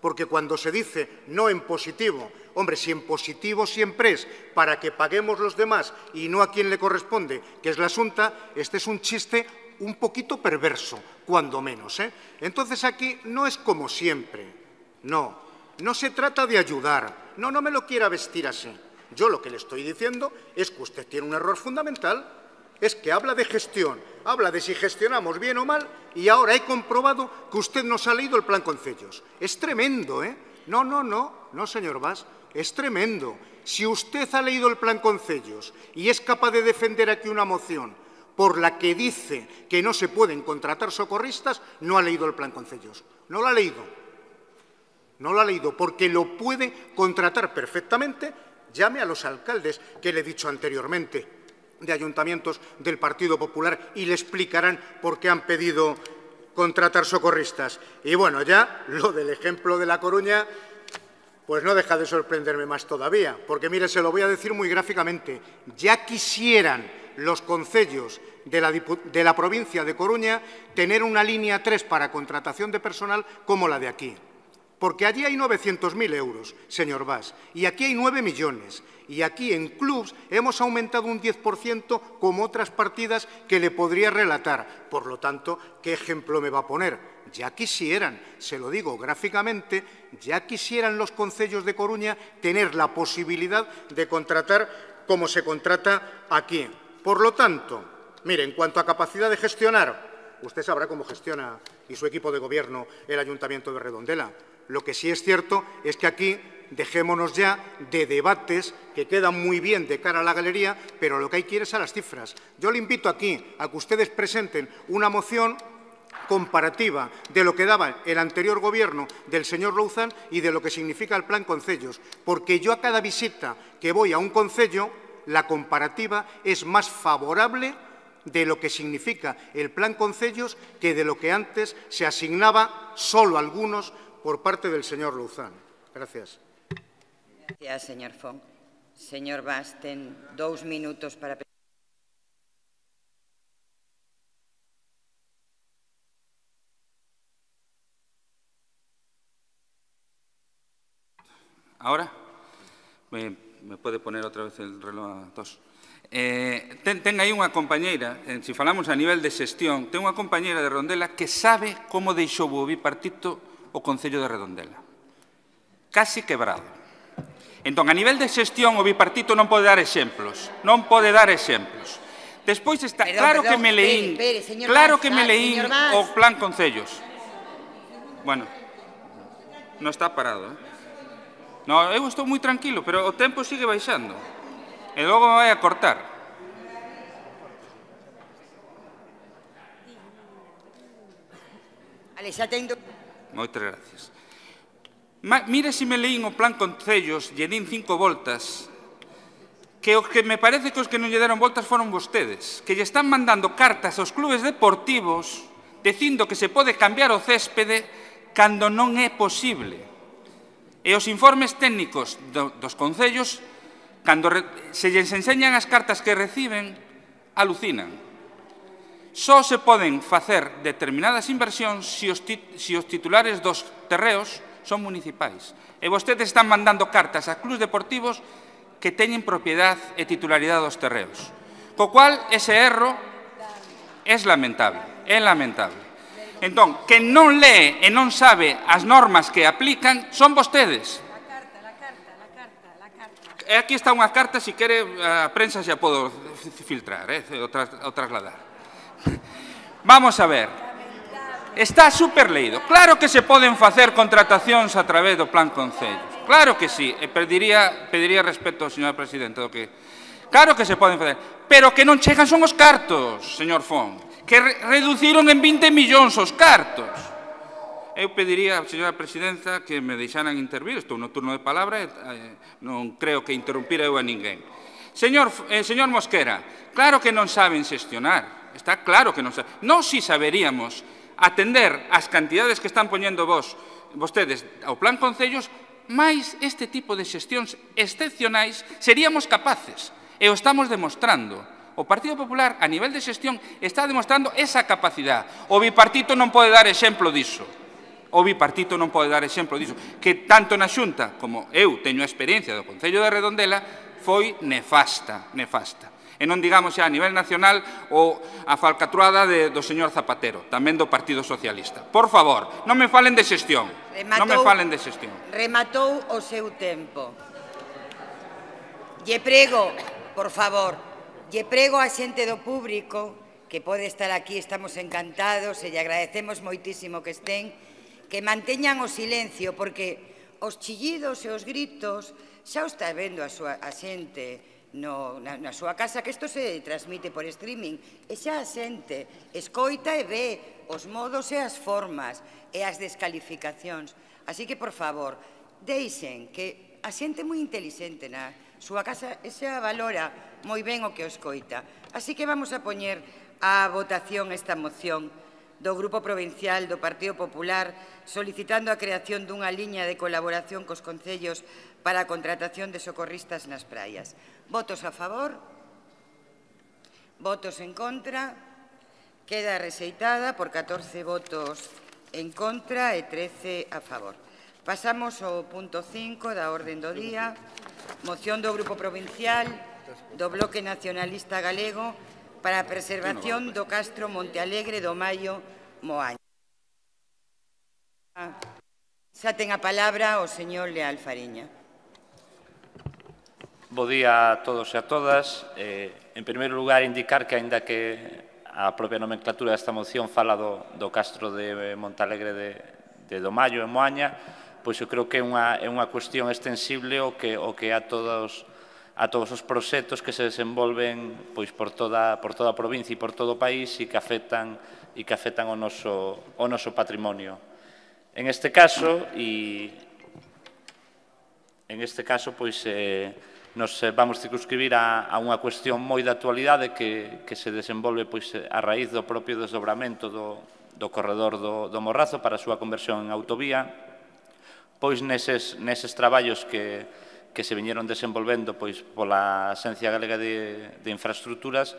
porque cuando se dice no en positivo, hombre, si en positivo siempre es para que paguemos los demás y no a quien le corresponde, que es la Xunta, este es un chiste un poquito perverso, cuando menos. Entonces aquí no es como siempre. No se trata de ayudar. No me lo quiera vestir así. Yo lo que le estoy diciendo es que usted tiene un error fundamental. Es que habla de gestión, habla de si gestionamos bien o mal y ahora he comprobado que usted nos ha leído el plan concellos. Es tremendo, No, señor Bas, es tremendo. Si usted ha leído el plan concellos y es capaz de defender aquí una moción por la que dice que no se pueden contratar socorristas, no ha leído el plan concellos. No lo ha leído. No lo ha leído porque lo puede contratar perfectamente. Llame a los alcaldes que le he dicho anteriormente. de ayuntamientos del Partido Popular y le explicarán por qué han pedido contratar socorristas. Y bueno, ya lo del ejemplo de La Coruña, pues no deja de sorprenderme más todavía, porque mire, se lo voy a decir muy gráficamente, ya quisieran los concellos de la provincia de Coruña tener una línea 3 para contratación de personal como la de aquí. Porque allí hay 900.000 euros, señor Bas, y aquí hay 9 millones. Y aquí en clubs hemos aumentado un 10% como otras partidas que le podría relatar. Por lo tanto, ¿qué ejemplo me va a poner? Ya quisieran, se lo digo gráficamente, ya quisieran los concellos de Coruña tener la posibilidad de contratar como se contrata aquí. Por lo tanto, mire, en cuanto a capacidad de gestionar, usted sabrá cómo gestiona y su equipo de gobierno el Ayuntamiento de Redondela. Lo que sí es cierto es que aquí dejémonos ya de debates que quedan muy bien de cara a la galería, pero lo que hay que ir es a las cifras. Yo le invito aquí a que ustedes presenten una moción comparativa de lo que daba el anterior gobierno del señor Louzán y de lo que significa el plan concellos, porque yo a cada visita que voy a un concello, la comparativa es más favorable de lo que significa el plan concellos que de lo que antes se asignaba solo a algunos por parte del señor Louzán. Gracias. Gracias, señor Font. Señor Bas, ten 2 minutos para... ¿Ahora? ¿Me puede poner otra vez el reloj a 2? Ten aí unha compañeira, se falamos a nivel de xestión, ten unha compañeira de Redondela que sabe como deixou o bipartito o Concello de Redondela. Casi quebrado. Entón, a nivel de xestión, o bipartito non pode dar exemplos. Non pode dar exemplos. Despois está... Claro que me leín o plan concellos. Bueno, non está parado, No, eu estou moi tranquilo, pero o tempo sigue baixando. E logo me vai a cortar. Ale, xa ten... Moitas gracias. Mire se me leín o plan concellos, lle din 5 voltas, que o que me parece que os que non lle deron voltas foron vostedes, que lle están mandando cartas aos clubes deportivos dicindo que se pode cambiar o céspede cando non é posible. E os informes técnicos dos concellos, cando se lles enseñan as cartas que reciben, alucinan. Só se poden facer determinadas inversións se os titulares dos terreos son municipais. E vostedes están mandando cartas a clubes deportivos que teñen propiedade e titularidade dos terreos. Co cual, ese erro é lamentable. É lamentable. Entón, quen non lee e non sabe as normas que aplican son vostedes. La carta. E aquí está unha carta, se quere, a prensa xa podo filtrar, ou trasladar. Vamos a ver. Está super leído. Claro que se poden facer contratacións a través do plan concellos. Claro que sí. E pediría respeto ao señor presidente do que... Claro que se poden facer. Pero que non chegan son os cartos, señor Font. Que reduciron en 20 millóns os cartos. Eu pediría, señora presidenta, que me deixaran intervir. Estou no turno de palabra e non creo que interrumpira eu a ninguén. Señor Mosquera, claro que non saben xestionar. Está claro que non saben. Nós si saberíamos atender as cantidades que están poñendo vostedes ao plan concellos, máis este tipo de xestións excepcionais seríamos capaces. E o estamos demostrando. O Partido Popular, a nivel de xestión, está demostrando esa capacidade. O bipartito non pode dar exemplo diso. O bipartito non pode dar exemplo diso. Que tanto na Xunta, como eu teño a experiencia do Concello de Redondela, foi nefasta. E non digamos xa a nivel nacional ou a falcatruada do señor Zapatero, tamén do Partido Socialista. Por favor, non me falen de xestión. Rematou o seu tempo. Lle prego, por favor, lle prego a xente do público que pode estar aquí, estamos encantados e lle agradecemos moitísimo que estén, que manteñan o silencio, porque os chillidos e os gritos xa o está vendo a xente na súa casa, que isto se transmite por streaming, e xa a xente escoita e ve os modos e as formas e as descalificacións. Así que, por favor, deixen que a xente moi inteligente súa casa e xa valora moi ben o que o escoita. Así que vamos a poñer a votación esta moción do Grupo Provincial do Partido Popular solicitando a creación dunha liña de colaboración cos concellos para a contratación de socorristas nas praias. Votos a favor? Votos en contra? Queda rexeitada por 14 votos en contra e 13 a favor. Pasamos ao punto 5 da orde do día. Moción do Grupo Provincial do Bloque Nacionalista Galego para a preservación do Castro Montealegre do Maio Moaña. Xa ten a palabra o señor Leal Fariña. Bo día a todos e a todas. En primeiro lugar, indicar que, aínda que a propia nomenclatura desta moción fala do Castro de Montalegre de do Maio en Moaña, pois eu creo que é unha cuestión extensible o que a todos os proxectos que se desenvolven pois por toda a provincia e por todo o país e que afectan o noso patrimonio. En este caso, pois nos vamos circunscribir a unha cuestión moi de actualidade que se desenvolve pois a raíz do propio desdobramento do corredor do Morrazo para a súa conversión en autovía, pois neses traballos que se viñeron desenvolvendo pois pola Axencia Galega de Infraestructuras,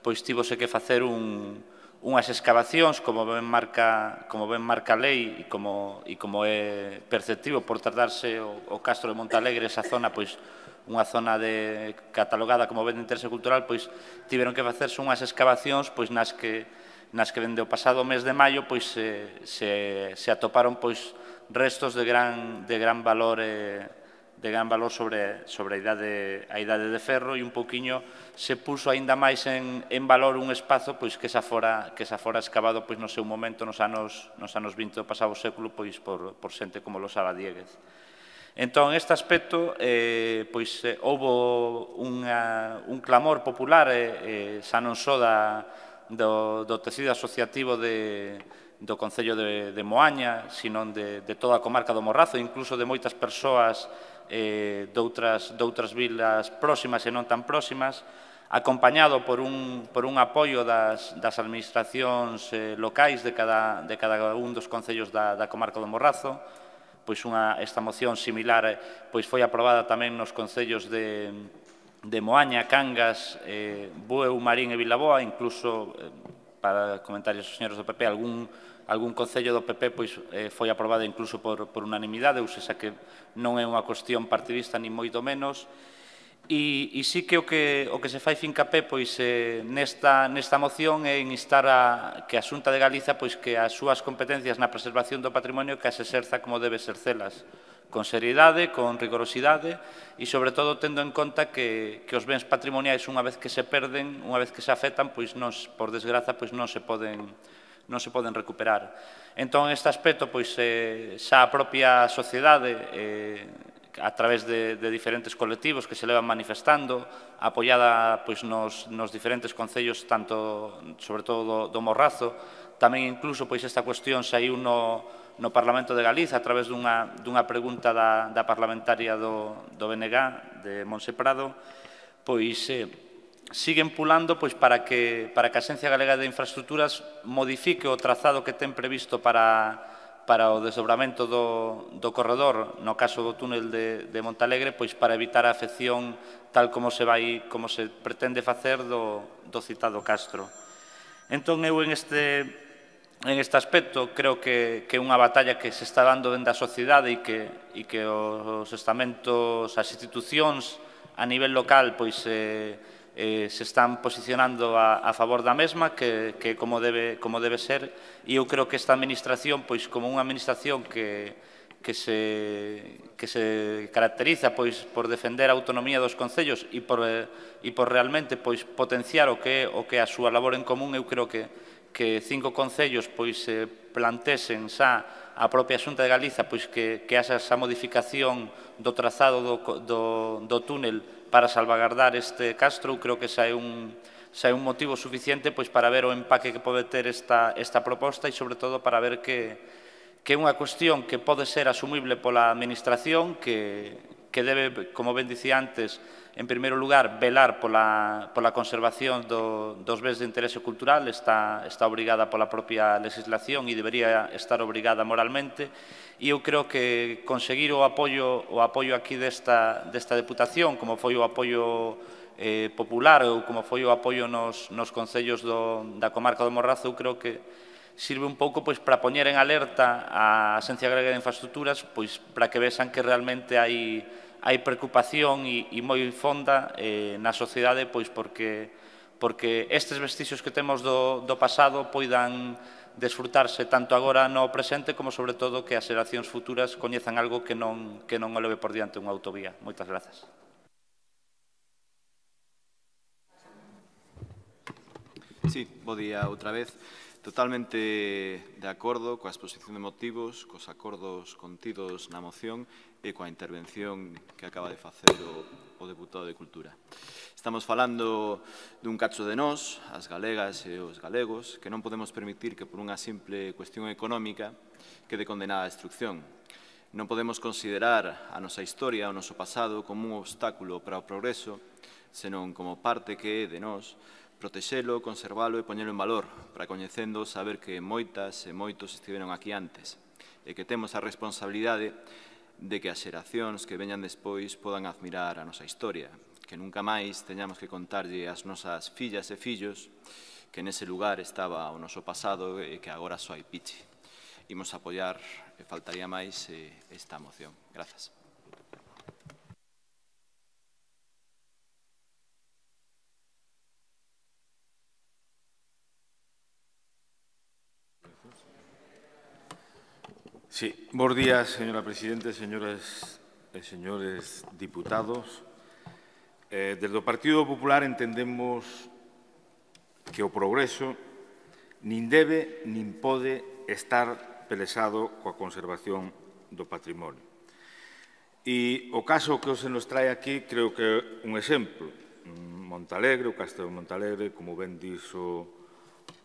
pois tivose que facer unhas excavacións, como ben marca a lei e como é perceptivo por tratarse o Castro de Montalegre, esa zona, pois unha zona catalogada como ben de interese cultural, pois tiveron que facerse unhas excavacións pois nas que dende o pasado mes de maio pois se atoparon pois restos de gran valor sobre a idade de ferro, e un pouquiño se puso aínda máis en valor un espazo pois que xa fora excavado pois no seu momento nos anos 20 do pasado século pois por xente como Losada Dieguez. Entón, neste aspecto, pois houbo un clamor popular, xa non só do tecido asociativo do Concello de Moaña, sino de toda a comarca do Morrazo, incluso de moitas persoas doutras vilas próximas e non tan próximas, acompañado por un apoio das administracións locais de cada un dos concellos da comarca do Morrazo. Pois esta moción similar pois foi aprobada tamén nos concellos de Moaña, Cangas, Bueu, Marín e Vilaboa, incluso, para comentarios dos señores do PP, algún concello do PP pois foi aprobada incluso por unanimidade, ou seja que non é unha cuestión partidista ni moito menos. E sí que o que se fai fincapé pois nesta moción é en instar que a Xunta de Galiza pois que as súas competencias na preservación do patrimonio que as exerza como debe exercelas, con seriedade, con rigorosidade e sobre todo tendo en conta que os bens patrimoniais unha vez que se perden, unha vez que se afectan, pois por desgraza pois non se poden recuperar. Entón, este aspecto pois xa a propia sociedade a través de diferentes colectivos que se levan manifestando, apoiada pois nos diferentes concellos, tanto, sobre todo, do Morrazo. Tamén, incluso, pois esta cuestión saiu no Parlamento de Galiza a través dunha pregunta da parlamentaria do BNG, de Monse Prado, pois siguen pulando pois para que a Axencia Galega de Infraestructuras modifique o trazado que ten previsto para o desdobramento do corredor, no caso do túnel de Montalegre, pois para evitar a afección tal como se pretende facer do citado Castro. Entón, eu en este aspecto creo que é unha batalla que se está dando dentro da sociedade e que os estamentos, as institucións a nivel local pois se están posicionando a favor da mesma, que como debe ser, e eu creo que esta administración, pois como unha administración que se caracteriza pois por defender a autonomía dos concellos e por realmente pois potenciar o que é a súa labor en común, eu creo que 5 concellos pois plantesen xa a propia Xunta de Galiza pois que haxa esa modificación do trazado do túnel para salvagardar este Castro. Eu creo que xa é un motivo suficiente pois para ver o empaque que pode ter esta proposta e, sobre todo, para ver que é unha cuestión que pode ser asumible pola Administración, que debe, como ben dicía antes, en primeiro lugar, velar pola conservación dos bens de interese cultural, está obrigada pola propia legislación e debería estar obrigada moralmente, e eu creo que conseguir o apoio aquí desta Deputación, como foi o apoio popular ou como foi o apoio nos concellos da comarca do Morrazo, eu creo que sirve un pouco para poñer en alerta a Axencia Galega de Infraestructuras para que vexan que realmente hai preocupación e moi fonda na sociedade porque estes vestixios que temos do pasado poidan desfrutarse tanto agora no presente como sobre todo que as xeracións futuras coñezan algo que non o leve por diante unha autovía. Moitas grazas. Sí, bo día outra vez. Totalmente de acordo coa exposición de motivos, cos acordos contidos na moción e coa intervención que acaba de facer o deputado de Cultura. Estamos falando dun cacho de nós, as galegas e os galegos, que non podemos permitir que por unha simple cuestión económica quede condenada a destrucción. Non podemos considerar a nosa historia, o noso pasado, como un obstáculo para o progreso, senón como parte que é de nós, protexelo, conservalo e poñelo en valor, para coñecendo saber que moitas e moitos estiveron aquí antes e que temos a responsabilidade de que as xeracións que veñan despois podan admirar a nosa historia, que nunca máis teñamos que contarlle ás nosas fillas e fillos que nese lugar estaba o noso pasado e que agora só hai piche. Imos apoiar, e faltaría máis, esta moción. Grazas. Sí, bons días, señora Presidente, señoras e señores diputados. Desde o Partido Popular entendemos que o progreso nin debe nin pode estar pelexado coa conservación do patrimonio. E o caso que se nos trae aquí creo que é un exemplo. Montalegre, o Castelo de Montalegre, como ben dixo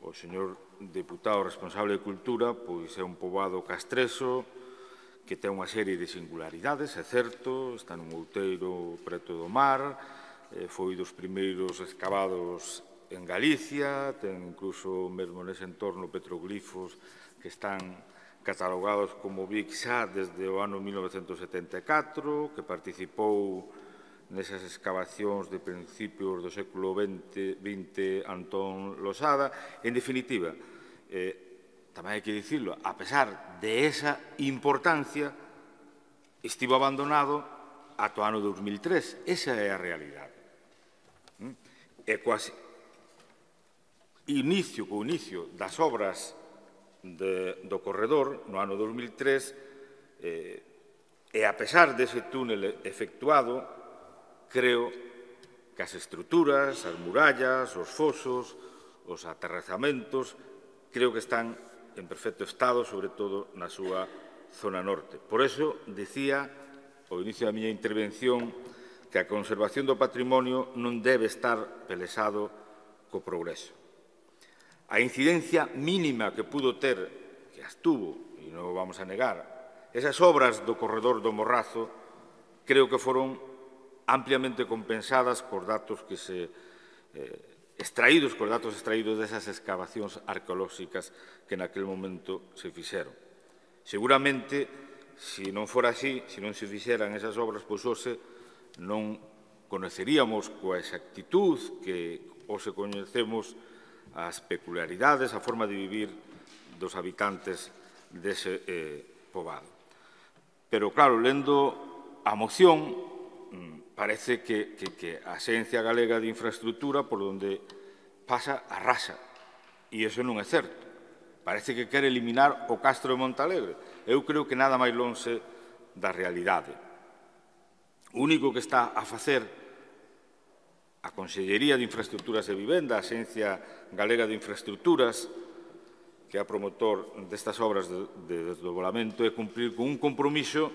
o señor deputado responsable de Cultura, pois é un poboado castreso que ten unha serie de singularidades, é certo, está nun outeiro preto do mar, foi dos primeiros excavados en Galicia, ten incluso mesmo nese entorno petroglifos que están catalogados como BIC xa desde o ano 1974, que participou nesas excavacións de principios do século XX Antón Losada. En definitiva, tamén hai que dicirlo, a pesar de esa importancia, estivo abandonado ata o ano 2003. Esa é a realidade. E co inicio das obras do corredor no ano 2003, e a pesar dese túnel efectuado, creo que as estruturas, as murallas, os fosos, os aterrazamentos, creo que están en perfecto estado, sobre todo na súa zona norte. Por eso, dicía ao inicio da miña intervención que a conservación do patrimonio non debe estar pelexado co progreso. A incidencia mínima que pudo ter, que as tuvo, e non o vamos a negar, esas obras do corredor do Morrazo, creo que foron ampliamente compensadas cos datos que extraídos desas excavacións arqueolóxicas que naquele momento se fixeron. Seguramente, se non fora así, se non se fixeran esas obras, pois hoxe non conoceríamos coa exactitud que hoxe coñecemos as peculiaridades, a forma de vivir dos habitantes dese poboado. Pero, claro, lendo a moción, parece que a Axencia Galega de Infraestructura por onde pasa arrasa. E iso non é certo. Parece que quere eliminar o Castro de Montalegre. Eu creo que nada máis lonxe da realidade. O único que está a facer a Consellería de Infraestructuras e Vivenda, a Axencia Galega de Infraestructuras, que é a promotor destas obras de desdoblamento, é cumprir con un compromiso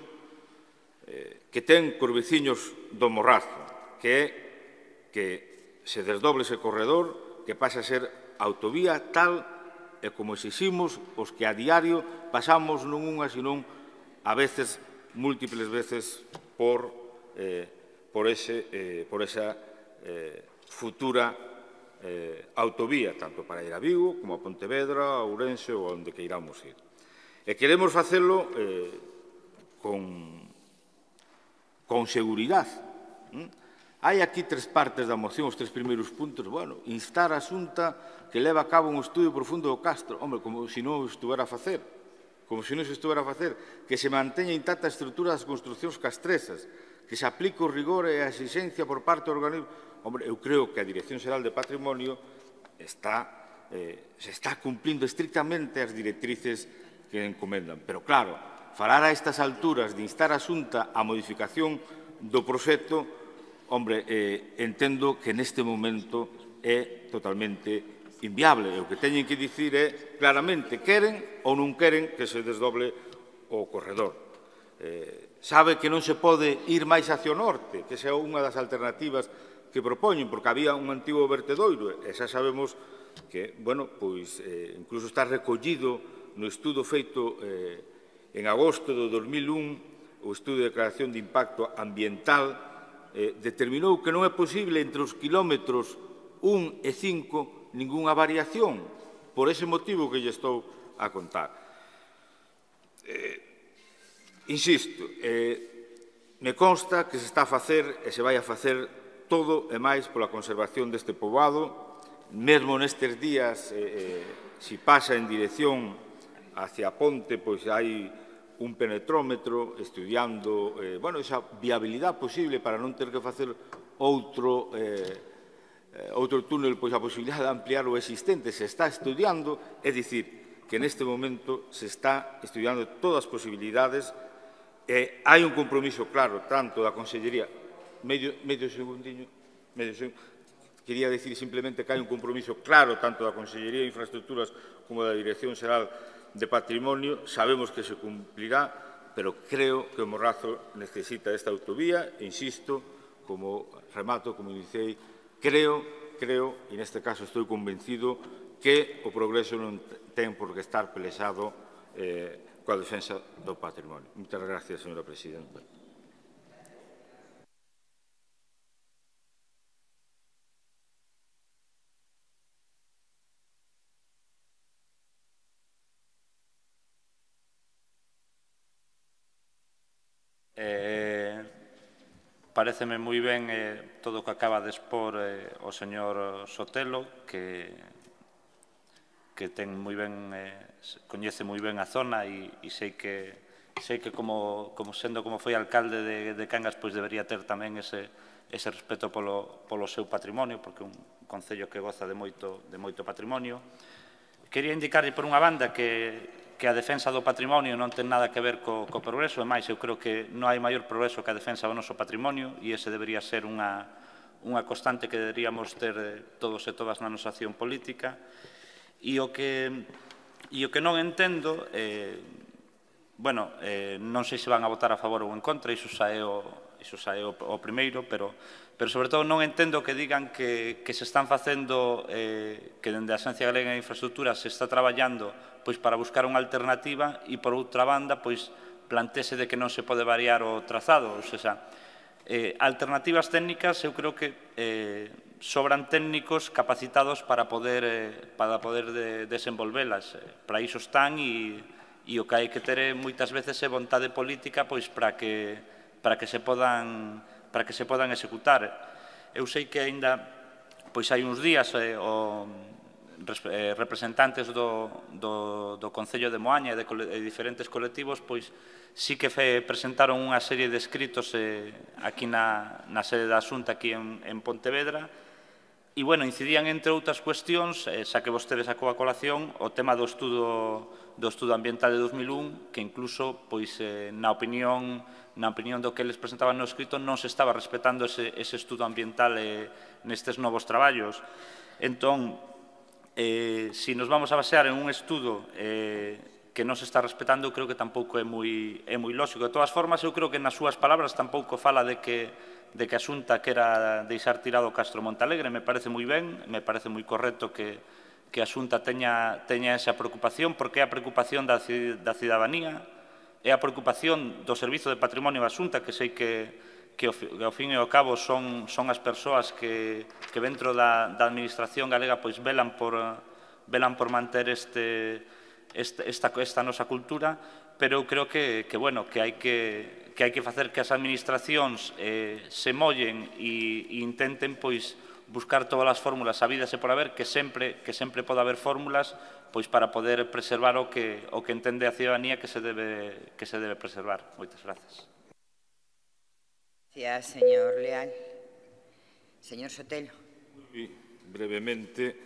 que ten cos veciños do Morrazo, que é que se desdoble ese corredor, que pase a ser autovía tal e como exiximos os que a diario pasamos non unha, senón a veces, múltiples veces, por por esa futura autovía, tanto para ir a Vigo como a Pontevedra, a Ourense ou onde queiramos ir. E queremos facelo con seguridade. Hai aquí tres partes da moción, os tres primeiros puntos. Bueno, instar a Xunta que leve a cabo un estudio profundo do Castro. Hombre, como se non o estuvera a facer. Como se non se estuvera a facer. Que se manteña intacta a estrutura das construcións castresas. Que se aplique o rigor e a exigencia por parte do organismo. Hombre, eu creo que a Dirección Xeral de Patrimonio se está cumplindo estrictamente as directrices que encomendan. Pero, claro, falar a estas alturas de instar a Xunta a modificación do proxecto, hombre, entendo que neste momento é totalmente inviable. E o que teñen que dicir é claramente queren ou non queren que se desdoble o corredor. Sabe que non se pode ir máis hacia o norte, que esa é unha das alternativas que propoñen, porque había un antigo vertedoiro, e xa sabemos que, bueno, pois, incluso está recollido no estudo feito en agosto de 2001, o estudo de declaración de impacto ambiental, determinou que non é posible entre os kilómetros 1 e 5 ningunha variación, por ese motivo que lle estou a contar. Insisto, me consta que se está a facer e se vai a facer todo e máis pola conservación deste poboado, mesmo nestes días, se pasa en dirección hacia Ponte, pois hai un penetrómetro estudiando esa viabilidade posible para non ter que facer outro túnel, pois a posibilidade de ampliar o existente se está estudiando, é dicir, que neste momento se está estudiando todas as posibilidades e hai un compromiso claro tanto da Consellería, medio segundiño, quería dicir simplemente que hai un compromiso claro tanto da Consellería de Infraestructuras como da Dirección Xeral de Patrimonio, sabemos que se cumplirá, pero creo que o Morrazo necesita esta autovía, e insisto, como remato, como dicei, creo, e neste caso estou convencido, que o progreso non ten por que estar pelexado coa defensa do patrimonio. Moitas gracias, señora presidenta. Paréceme moi ben todo o que acaba de expor o señor Sotelo, que ten moi ben, coñece moi ben a zona e sei que como sendo como foi alcalde de Cangas, pois debería ter tamén ese respeto polo seu patrimonio, porque é un concello que goza de moito patrimonio. Quería indicarlle por unha banda que a defensa do patrimonio non ten nada que ver co progreso, e máis, eu creo que non hai maior progreso que a defensa do noso patrimonio, e ese debería ser unha constante que deberíamos ter todos e todas na nosa acción política. E o que non entendo, non sei se van a votar a favor ou en contra, iso xa é o primeiro, pero sobre todo non entendo que digan que se están facendo, que dende a Axencia Galega de Infraestructuras se está traballando para buscar unha alternativa e, por outra banda, planteese de que non se pode variar o trazado. Ou seja, alternativas técnicas, eu creo que sobran técnicos capacitados para poder desenvolvelas. Para iso están e o que hai que ter moitas veces é vontade política para que se podan executar. Eu sei que aínda hai uns días representantes do Concello de Moaña e de diferentes colectivos sí que presentaron unha serie de escritos aquí na sede da Xunta aquí en Pontevedra e, incidían entre outras cuestións, xa que vostede sacou a colación, o tema do estudo ambiental de 2001, que incluso, na opinión do que eles presentaban no escrito, non se estaba respetando ese estudo ambiental nestes novos traballos. Entón, se nos vamos a basear en un estudo que non se está respetando, creo que tampouco é moi lógico. De todas formas, eu creo que nas súas palabras tampouco fala de que a Xunta quera deixar tirado o Castro Montalegre. Me parece moi ben, me parece moi correcto que a Xunta teña esa preocupación, porque é a preocupación da cidadanía, é a preocupación do Servizo de Patrimonio da Xunta, que sei que ao fin e ao cabo son as persoas que dentro da administración galega pois velan por manter esta nosa cultura, pero eu creo que hai que facer que as administracións se mollen e intenten pois buscar todas as fórmulas habidas e por haber, que sempre pode haber fórmulas pois para poder preservar o que entende a ciudadanía que se debe preservar. Moitas grazas. Gracias, señor Leal. Señor Sotelo. Brevemente,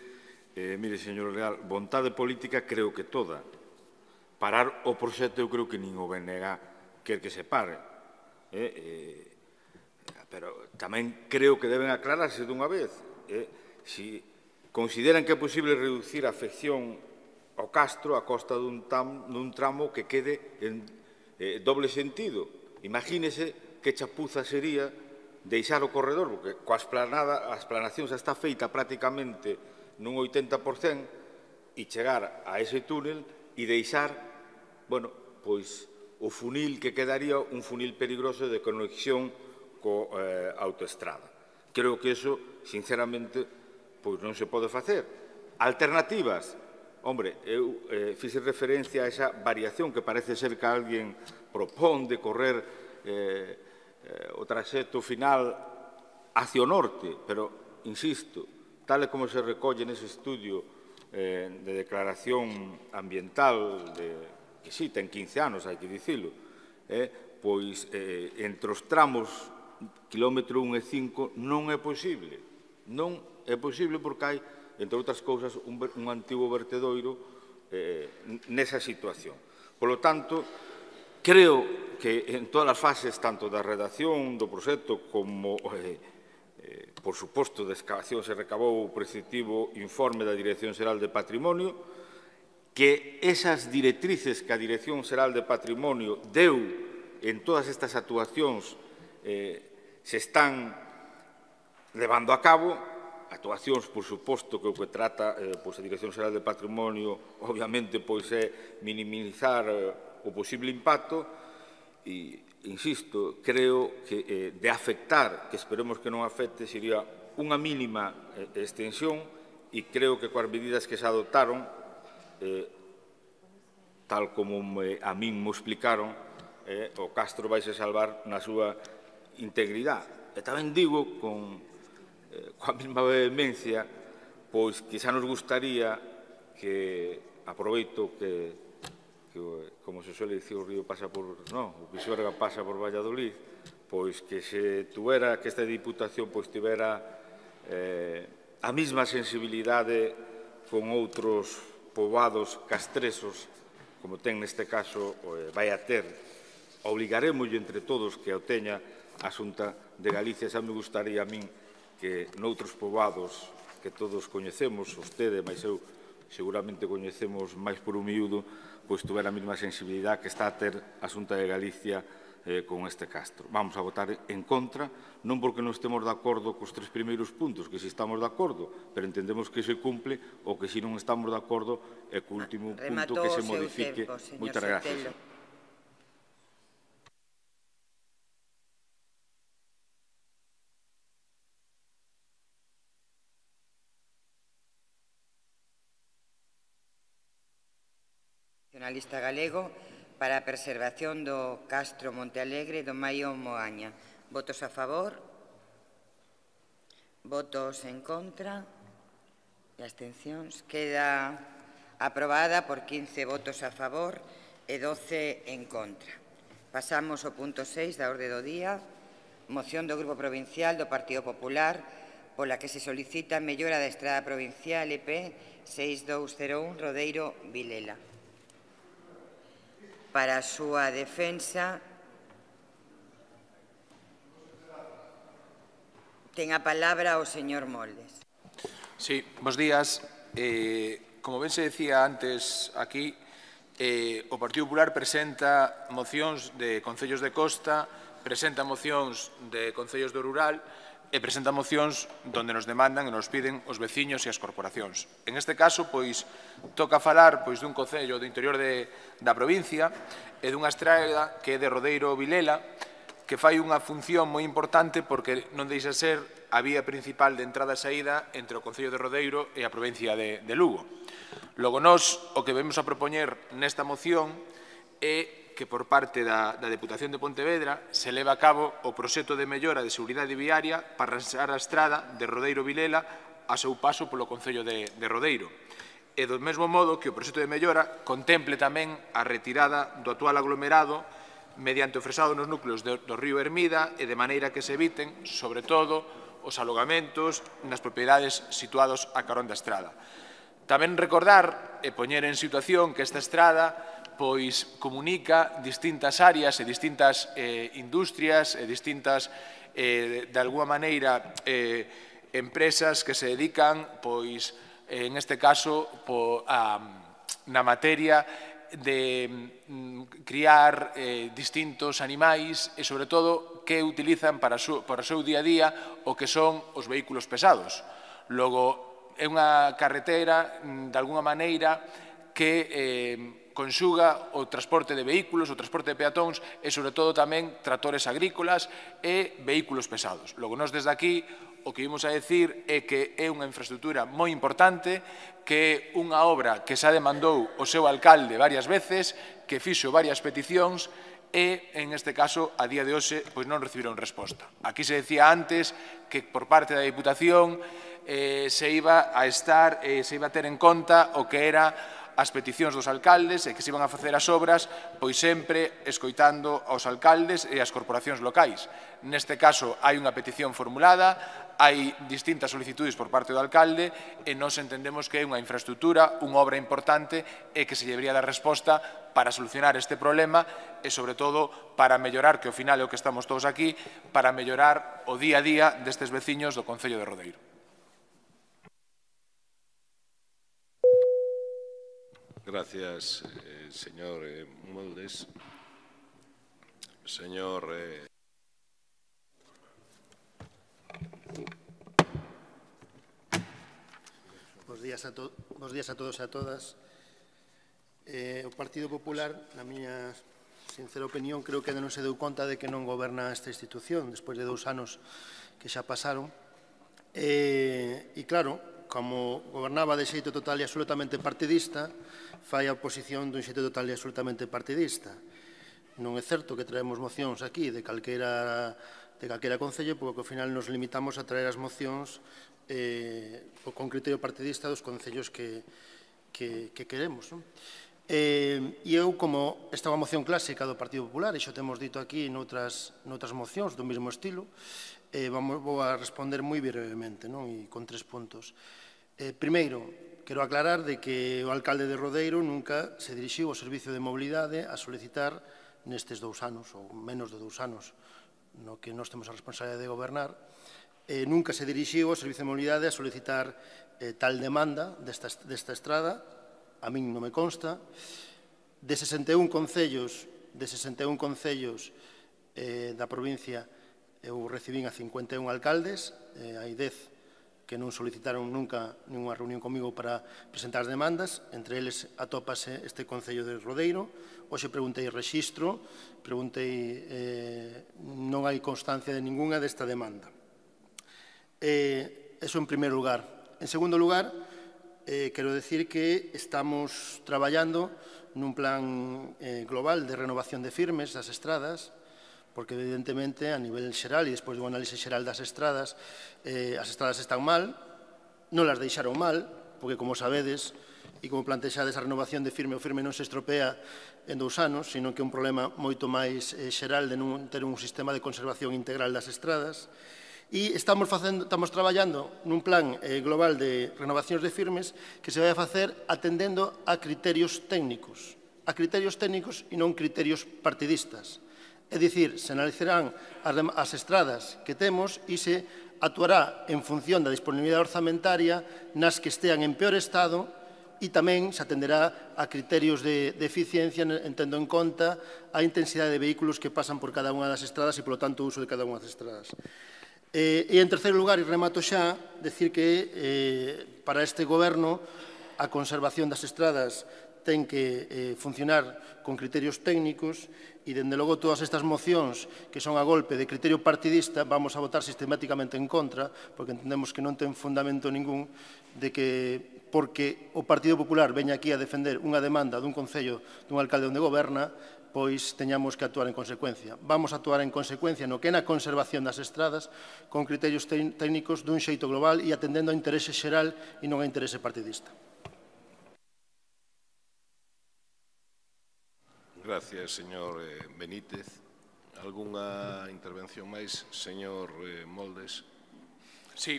mire, señor Leal, vontade política creo que toda. Parar o proxecto eu creo que nin o BNG quer que se pare. Pero tamén creo que deben aclararse dunha vez. Si consideran que é posible reducir a afección ao Castro a costa dun tramo que quede en doble sentido. Imagínese que chapuza sería deixar o corredor, porque coa a esplanación xa está feita prácticamente nun 80% e chegar a ese túnel e deixar, pois, o funil que quedaría un funil peligroso de conexión coa autoestrada. Creo que iso, sinceramente, pois non se pode facer. Alternativas. Hombre, eu fixe referencia a esa variación que parece ser que alguén propón de correr o traxecto final hacia o norte, pero, insisto, tal como se recolle nese estudio de declaración ambiental, que sí, ten 15 anos, hai que dicilo, pois entre os tramos kilómetro 1 e 5 non é posible. Non é posible porque hai, entre outras cousas, un antigo vertedoiro nesa situación. Por lo tanto, creo que en todas as fases, tanto da redacción do proxecto como, por suposto, da excavación, se recabou o preceptivo informe da Dirección Xeral de Patrimonio, que esas directrices que a Dirección Xeral de Patrimonio deu en todas estas actuacións se están levando a cabo, actuacións, por suposto, que o que trata a Dirección Xeral de Patrimonio, obviamente, é minimizar o posible impacto e, insisto, creo que de afectar, que esperemos que non afecte, sería unha mínima extensión e creo que coas medidas que se adoptaron, tal como a min me explicaron, o Castro vaise salvar na súa integridade. E tamén digo, coa mesma vehemencia, pois que xa nos gustaría que, aproveito que como se suele dicir, o río pasa por, o Pisuerga pasa por Valladolid, pois que se tuvera, que esta Diputación pois tivera a mesma sensibilidade con outros poboados castresos, como ten neste caso, vai a ter, obligaremos entre todos que o teña a Xunta de Galicia. Xa me gustaría a min que noutros poboados que todos coñecemos, vostede, mas eu seguramente coñecemos máis por un miúdo, pois tuvera a mesma sensibilidade que está a ter a Xunta de Galicia con este Castro. Vamos a votar en contra, non porque non estemos de acordo cos 3 primeiros puntos, que si estamos de acordo, pero entendemos que se cumple, ou que si non estamos de acordo é co último punto que se modifique. Moitas gracias. Nacionalista galego para a preservación do Castro Montealegre do Maio Moaña. Votos a favor? Votos en contra? E abstencións? Queda aprobada por 15 votos a favor e 12 en contra. Pasamos ao punto 6 da orde do día. Moción do Grupo Provincial do Partido Popular pola que se solicita a mellora da estrada provincial EP 6201 Rodeiro Vilela. Para a súa defensa, ten a palabra o señor Moldes. Sí, bos días. Como ben se decía antes aquí, o Partido Popular presenta mocións de concellos de costa, presenta mocións de concellos do rural e presenta mocións donde nos demandan e nos piden os veciños e as corporacións. En este caso, pois, toca falar dun concello do interior da provincia e dunha estrada que é de Rodeiro Vilela, que fai unha función moi importante porque non deixa ser a vía principal de entrada e saída entre o Concello de Rodeiro e a provincia de Lugo. Logo, nós o que vemos a propoñer nesta moción é que por parte da Deputación de Pontevedra se leva a cabo o proxecto de mellora de seguridade viaria para rastrear a estrada de Rodeiro-Vilela a seu paso polo Concello de Rodeiro. E do mesmo modo que o proxecto de mellora contemple tamén a retirada do actual aglomerado mediante o fresado nos núcleos do río Hermida e de maneira que se eviten, sobre todo, os alogamentos nas propiedades situados a carón da estrada. Tamén recordar e poñer en situación que esta estrada pois comunica distintas áreas e distintas industrias e distintas, de alguma maneira, empresas que se dedican, pois, en este caso, na materia de criar distintos animais e, sobre todo, que utilizan para o seu día a día o que son os vehículos pesados. Logo, é unha carretera, de alguna maneira, que conxuga o transporte de vehículos, o transporte de peatóns e, sobre todo, tamén tractores agrícolas e vehículos pesados. Logo, nós desde aquí o que imos a decir é que é unha infraestructura moi importante, que é unha obra que xa demandou o seu alcalde varias veces, que fixo varias peticións e, en este caso, a día de hoxe, pois non recibiron resposta. Aquí se decía antes que por parte da Diputación se iba a ter en conta o que era as peticións dos alcaldes e que se iban a facer as obras, pois sempre escoitando aos alcaldes e as corporacións locais. Neste caso, hai unha petición formulada, hai distintas solicitudes por parte do alcalde e nós entendemos que é unha infraestructura, unha obra importante e que se debería dar resposta para solucionar este problema e, sobre todo, para mellorar, que ao final é o que estamos todos aquí, para mellorar o día a día destes veciños do Concello de Rodeiro. Gracias, señor Moldes. Señor... Bos días a todos e a todas. O Partido Popular, na miña sincera opinión, creo que non se deu conta de que non goberna esta institución despois de 2 anos que xa pasaron. E claro, como gobernaba de xeito total e absolutamente partidista, fai a oposición dun xeito total e absolutamente partidista. Non é certo que traemos mocións aquí de calquera concello, porque ao final nos limitamos a traer as mocións con criterio partidista dos concellos que queremos. E eu, como esta é unha moción clásica do Partido Popular, e xo temos dito aquí noutras mocións do mesmo estilo, vou a responder moi brevemente e con 3 puntos. Primeiro, quero aclarar de que o alcalde de Rodeiro nunca se dirixiu ao Servicio de Mobilidade a solicitar nestes 2 anos, ou menos de 2 anos, no que nós temos a responsabilidade de gobernar, nunca se dirixiu ao Servicio de Mobilidade a solicitar tal demanda desta estrada, a min non me consta. De 61 concellos da provincia, eu recibín a 51 alcaldes, hai 10 que non solicitaron nunca ninguna reunión comigo para presentar as demandas, entre eles atópase este Concello de Rodeiro. Hoxe preguntei rexistro, non hai constancia de ninguna desta demanda. Eso en primeiro lugar. En segundo lugar, quero decir que estamos traballando nun plan global de renovación de firmes das estradas, porque evidentemente a nivel xeral e despois do análise xeral das estradas, as estradas están mal, non las deixaron mal, porque como sabedes e como plantexades a renovación de firme, o firme non se estropea en 2 anos, sino que é un problema moito máis xeral de non ter un sistema de conservación integral das estradas. E estamos traballando nun plan global de renovacións de firmes que se vai a facer atendendo a criterios técnicos e non criterios partidistas. É dicir, se analizarán as estradas que temos e se actuará en función da disponibilidade orzamentaria nas que estean en peor estado e tamén se atenderá a criterios de eficiencia tendo en conta a intensidade de vehículos que pasan por cada unha das estradas e, polo tanto, o uso de cada unha das estradas. E, en terceiro lugar, e remato xa, decir que para este goberno a conservación das estradas ten que funcionar con criterios técnicos e, dende logo, todas estas mocións que son a golpe de criterio partidista vamos a votar sistemáticamente en contra, porque entendemos que non ten fundamento ningún de que, porque o Partido Popular veña aquí a defender unha demanda dun concello dun alcalde onde goberna, pois teñamos que actuar en consecuencia. Vamos a actuar en consecuencia no que é na conservación das estradas con criterios técnicos dun xeito global e atendendo ao interese xeral e non ao interese partidista. Gracias, señor Benítez. Algunha intervención máis, señor Moldes? Sí,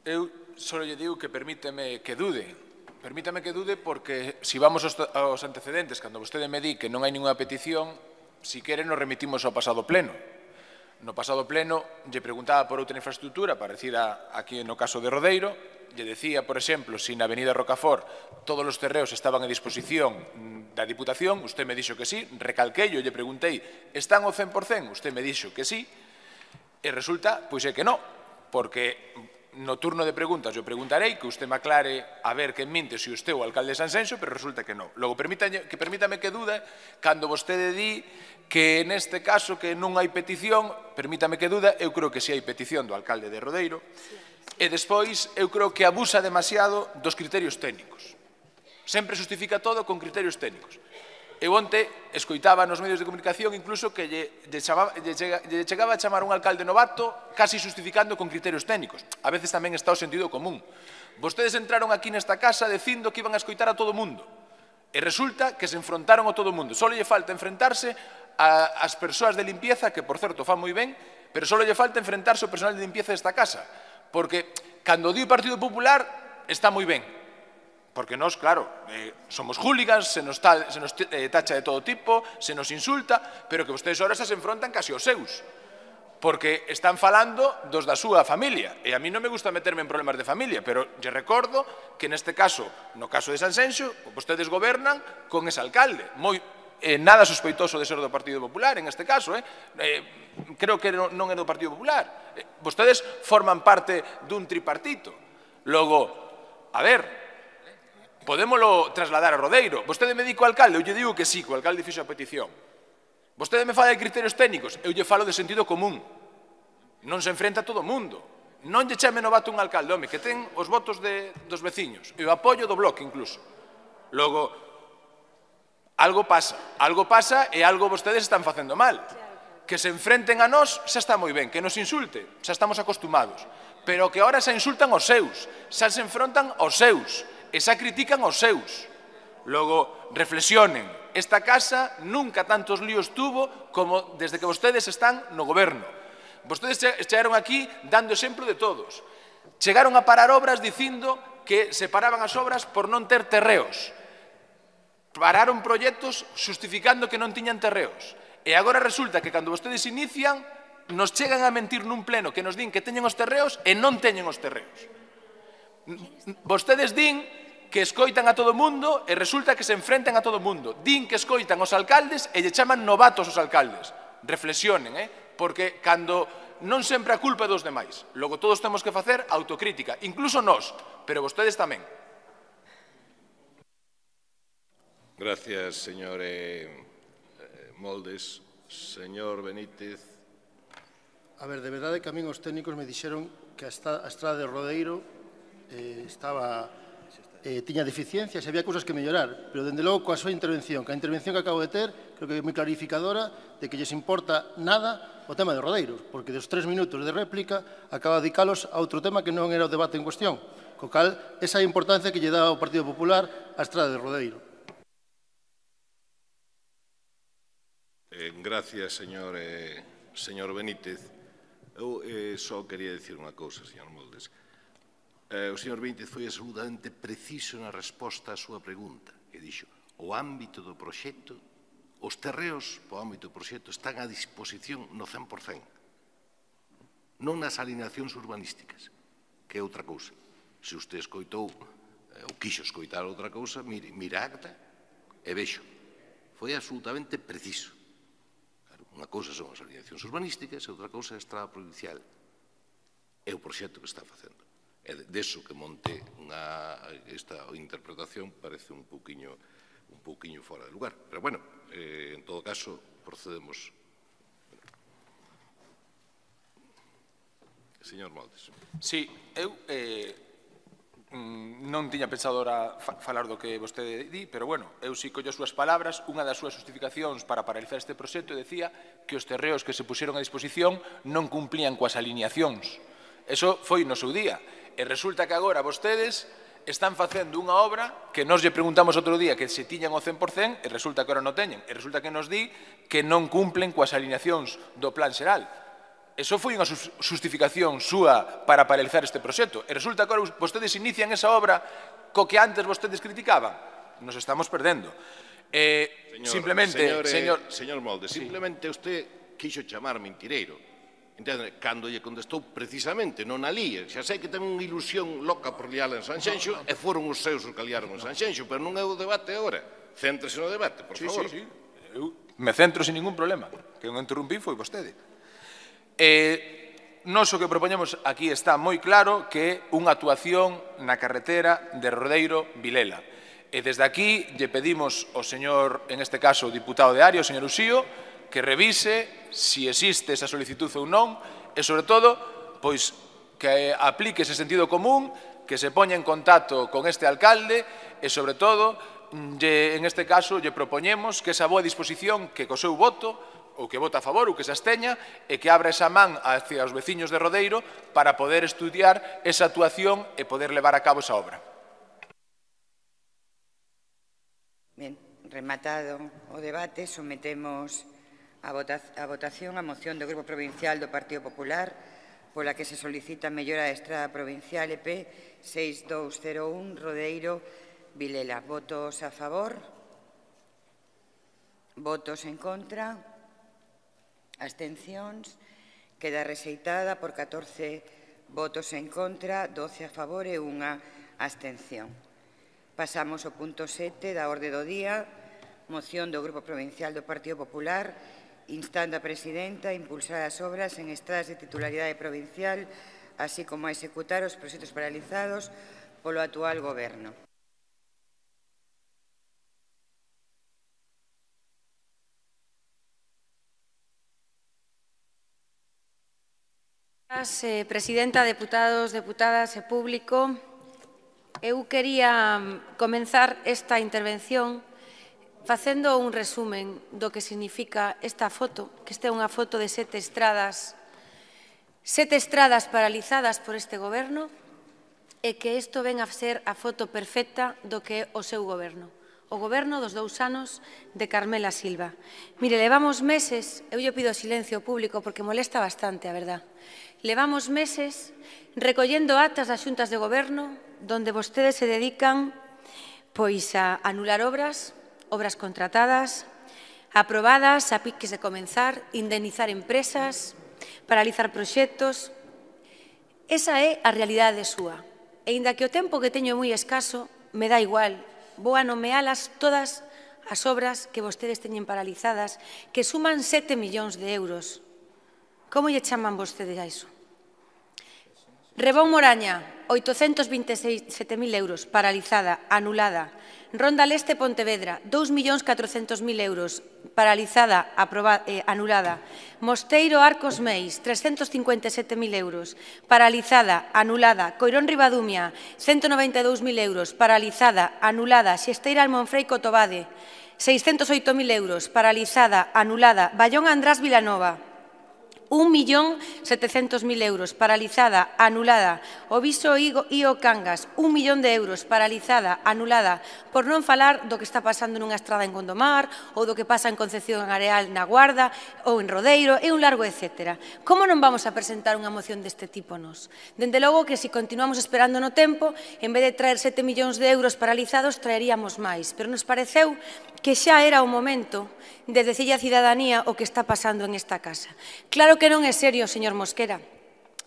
eu só lle digo que permíteme que dude. Permítame que dude porque, se vamos aos antecedentes, cando vostede me di que non hai ninguna petición, si quere nos remitimos ao pasado pleno. No pasado pleno, lle preguntaba por outra infraestructura parecida aquí no caso de Rodeiro, lle decía, por exemplo, se na avenida Rocafort todos os terreos estaban a disposición da Diputación, usted me dixo que sí, recalquei, lle preguntei, están ao 100%? Usted me dixo que sí, e resulta, pois é que non, porque no turno de preguntas eu preguntarei que usted me aclare a ver que minte se usted o alcalde de Sanxenxo, pero resulta que non. Logo, permítame que dude cando vostede di que neste caso que non hai petición, permítame que dude, eu creo que si hai petición do alcalde de Rodeiro, e despois eu creo que abusa demasiado dos criterios técnicos. Sempre justifica todo con criterios técnicos. Eu onte escoitaba nos medios de comunicación incluso que lle chegaba a chamar un alcalde novato casi justificando con criterios técnicos. A veces tamén está o sentido común. Vostedes entraron aquí nesta casa dicindo que iban a escoitar a todo o mundo. E resulta que se enfrontaron a todo o mundo. Só lle falta enfrentarse ás persoas de limpieza, que por certo fan moi ben, pero só lle falta enfrentarse ao personal de limpieza desta casa. Porque cando di o Partido Popular está moi ben. Porque nós, claro, somos hooligans, se nos tacha de todo tipo, se nos insulta, pero que vostedes ahora se enfrontan casi aos seus. Porque están falando dos da súa familia. E a mí non me gusta meterme en problemas de familia, pero lle recordo que neste caso, no caso de Sanxenxo, vostedes gobernan con ese alcalde. Nada sospeitoso de ser do Partido Popular, en este caso. Creo que non é do Partido Popular. Vostedes forman parte dun tripartito. Logo, a ver, podémolo trasladar a Rodeiro. Vostede me di co alcalde, eu lle digo que sí, que o alcalde fixo a petición. Vostede me fala de criterios técnicos, eu lle falo de sentido común. Non se enfrenta a todo o mundo. Non lle chame novato un alcalde, home, que ten os votos dos veciños, e o apoio do bloque incluso. Logo, algo pasa e algo vostedes están facendo mal. Que se enfrenten a nós xa está moi ben, que nos insulte, xa estamos acostumados. Pero que ahora xa insultan aos seus, xa se enfrontan aos seus, e xa critican aos seus. Logo, reflexionen. Esta casa nunca tantos líos tuvo como desde que vostedes están no goberno. Vostedes chegaron aquí dando exemplo de todos. Chegaron a parar obras dicindo que se paraban as obras por non ter terreos. Pararon proxectos justificando que non tiñan terreos. E agora resulta que cando vostedes inician, nos chegan a mentir nun pleno que nos din que teñen os terreos e non teñen os terreos. Vostedes din que escoitan a todo o mundo e resulta que se enfrentan a todo o mundo. Din que escoitan os alcaldes e lle chaman novatos os alcaldes. Reflexionen, porque cando non sempre a culpa é dos demais. Logo todos temos que facer autocrítica, incluso nós, pero vostedes tamén. Gracias, señor Moldes. Señor Benítez. A ver, de verdade que a min os técnicos me dixeron que a estrada de Rodeiro tiña deficiencias e había cousas que mellorar, pero dende logo coa súa intervención, que a intervención que acabo de ter, creo que é moi clarificadora de que lles importa nada o tema de Rodeiros, porque dos 3 minutos de réplica acaba de dedicalos a outro tema que non era o debate en cuestión, co cal esa é a importancia que lle dá ao Partido Popular a estrada de Rodeiro. Gracias, señor Benítez. Eu só quería dicir unha cousa, señor Moldes. O señor Benítez foi absolutamente preciso na resposta á súa pregunta, que dixo, o ámbito do proxecto, os terreos po ámbito do proxecto están a disposición no 100%, non nas alineacións urbanísticas, que é outra cousa. Se usted escoitou ou quixo escoitar outra cousa, mira acta e vexo. Foi absolutamente preciso. Unha cousa son as alineacións urbanísticas e outra cousa é a estrada provincial. É o proxecto que está facendo. E deso que monte esta interpretación parece un poquinho un pouquiño fora de lugar. Pero, bueno, en todo caso, procedemos. Señor Moldes. Sí, eu non tiña pensado ahora falar do que vostede di, pero, bueno, eu si collo as súas palabras. Unha das súas justificacións para paralizar este proxecto decía que os terreos que se puxeron a disposición non cumplían coas alineacións. Eso foi no seu día. E resulta que agora vostedes están facendo unha obra que nos lle preguntamos outro día que se tiñan o 100% e resulta que ahora non teñen. E resulta que nos di que non cumplen coas alineacións do plan xeral. Eso foi unha justificación súa para paralizar este proxecto. E resulta que agora vostedes inician esa obra co que antes vostedes criticaban. Nos estamos perdendo. Señor Moldes, simplemente usted quixo chamar mentireiro. Entende? Cando lle contestou precisamente non alía. Xa sei que ten unha ilusión loca por liala en Sanxenxo e foron os seus os que liaron en Sanxenxo, pero non é o debate agora. Céntrese no debate, por favor. Sí. Eu me centro sin ningún problema. Que non interrumpí foi vostede. Nos o que propoñemos aquí está moi claro que é unha actuación na carretera de Rodeiro-Vilela. E desde aquí lle pedimos ao señor, en este caso, o diputado de Ario, o señor Uxío, que revise se existe esa solicitud ou non e, sobre todo, pois que aplique ese sentido común, que se poña en contacto con este alcalde e, sobre todo, en este caso, lle propoñemos que esa boa disposición que co seu voto ou que vota a favor ou que se absteña e que abra esa man hacia os veciños de Rodeiro para poder estudiar esa actuación e poder levar a cabo esa obra. Ben, rematado o debate, sometemos a votación a moción do Grupo Provincial do Partido Popular pola que se solicita a mellora da Estrada Provincial EP 6201 Rodeiro-Vilela. Votos a favor? Votos en contra? Abstencións? Queda rexeitada por 14 votos en contra, 12 a favor e unha abstención. Pasamos ao punto 7 da orde do día, moción do Grupo Provincial do Partido Popular instando a Presidenta a impulsar as obras en estradas de titularidade provincial, así como a executar os proxectos paralizados polo actual Goberno. Presidenta, deputados, deputadas e público, eu quería comenzar esta intervención facendo un resumen do que significa esta foto, que esta é unha foto de 7 estradas paralizadas por este Goberno e que isto ven a ser a foto perfecta do que é o seu Goberno, o Goberno dos 2 anos de Carmela Silva. Mire, levamos meses, eu lle pido silencio público porque molesta bastante, a verdad. Levamos meses recollendo actas das xuntas de Goberno donde vostedes se dedican pois a anular obras contratadas, aprobadas, a piques de comenzar, indemnizar empresas, paralizar proxectos. Esa é a realidade súa. E inda que o tempo que teño é moi escaso, me dá igual. Vou a nomealas todas as obras que vostedes teñen paralizadas, que suman 7 millóns de euros. Como lle chaman vostedes a iso? Rebón Moraña, 827.000 euros, paralizada, anulada. Ronda Leste Pontevedra, 2.400.000 euros, paralizada, anulada. Mosteiro Arcos Meis, 357.000 euros, paralizada, anulada. Coirón Ribadumia, 192.000 euros, paralizada, anulada. Xesteira Almonfrei Cotobade, 608.000 euros, paralizada, anulada. Bayón András Vilanova, 1.700.000 euros, paralizada, anulada. Oviso Io Cangas, 1 millón de euros, paralizada, anulada. Por non falar do que está pasando nunha estrada en Gondomar ou do que pasa en Concepción Areal na Guarda ou en Rodeiro e un largo etcétera. Como non vamos a presentar unha moción deste tipo nos? Dende logo que se continuamos esperando no tempo, en vez de traer 7 millóns de euros paralizados, traeríamos máis. Pero nos pareceu que xa era o momento de decirlle á cidadanía o que está pasando en esta casa. Claro que non é serio, señor Mosquera.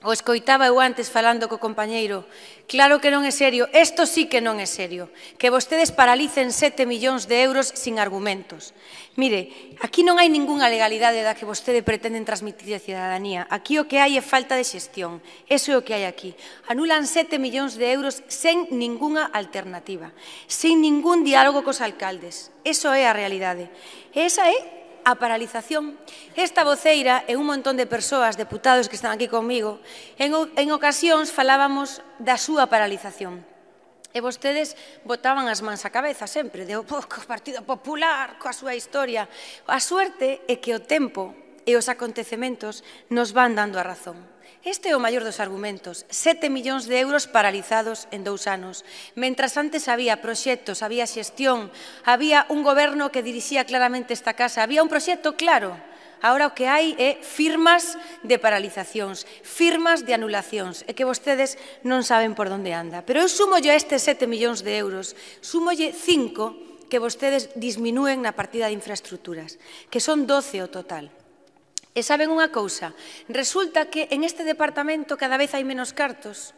O escoitaba eu antes falando co compañeiro. Claro que non é serio. Isto sí que non é serio. Que vostedes paralicen 7 millóns de euros sin argumentos. Mire, aquí non hai ningunha legalidade da que vostede pretenden transmitir a cidadanía. Aquí o que hai é falta de xestión. Eso é o que hai aquí. Anulan 7 millóns de euros sen ningunha alternativa. Sin ningún diálogo cos alcaldes. Eso é a realidade. E esa é a paralización. Esta voceira e un montón de persoas, deputados que están aquí comigo, en ocasións falábamos da súa paralización. E vostedes botaban as mans á cabeza sempre, de o Partido Popular, coa súa historia. A suerte é que o tempo e os acontecementos nos van dando a razón. Este é o maior dos argumentos, 7 millóns de euros paralizados en 2 anos. Mentras antes había proxectos, había xestión, había un goberno que dirixía claramente esta casa, había un proxecto claro. Agora o que hai é firmas de paralizacións, firmas de anulacións, e que vostedes non saben por onde anda. Pero eu sumolle a estes 7 millóns de euros, sumolle 5 que vostedes disminúen na partida de infraestructuras, que son 12 o total. E saben unha cousa, resulta que en este departamento cada vez hai menos cartos,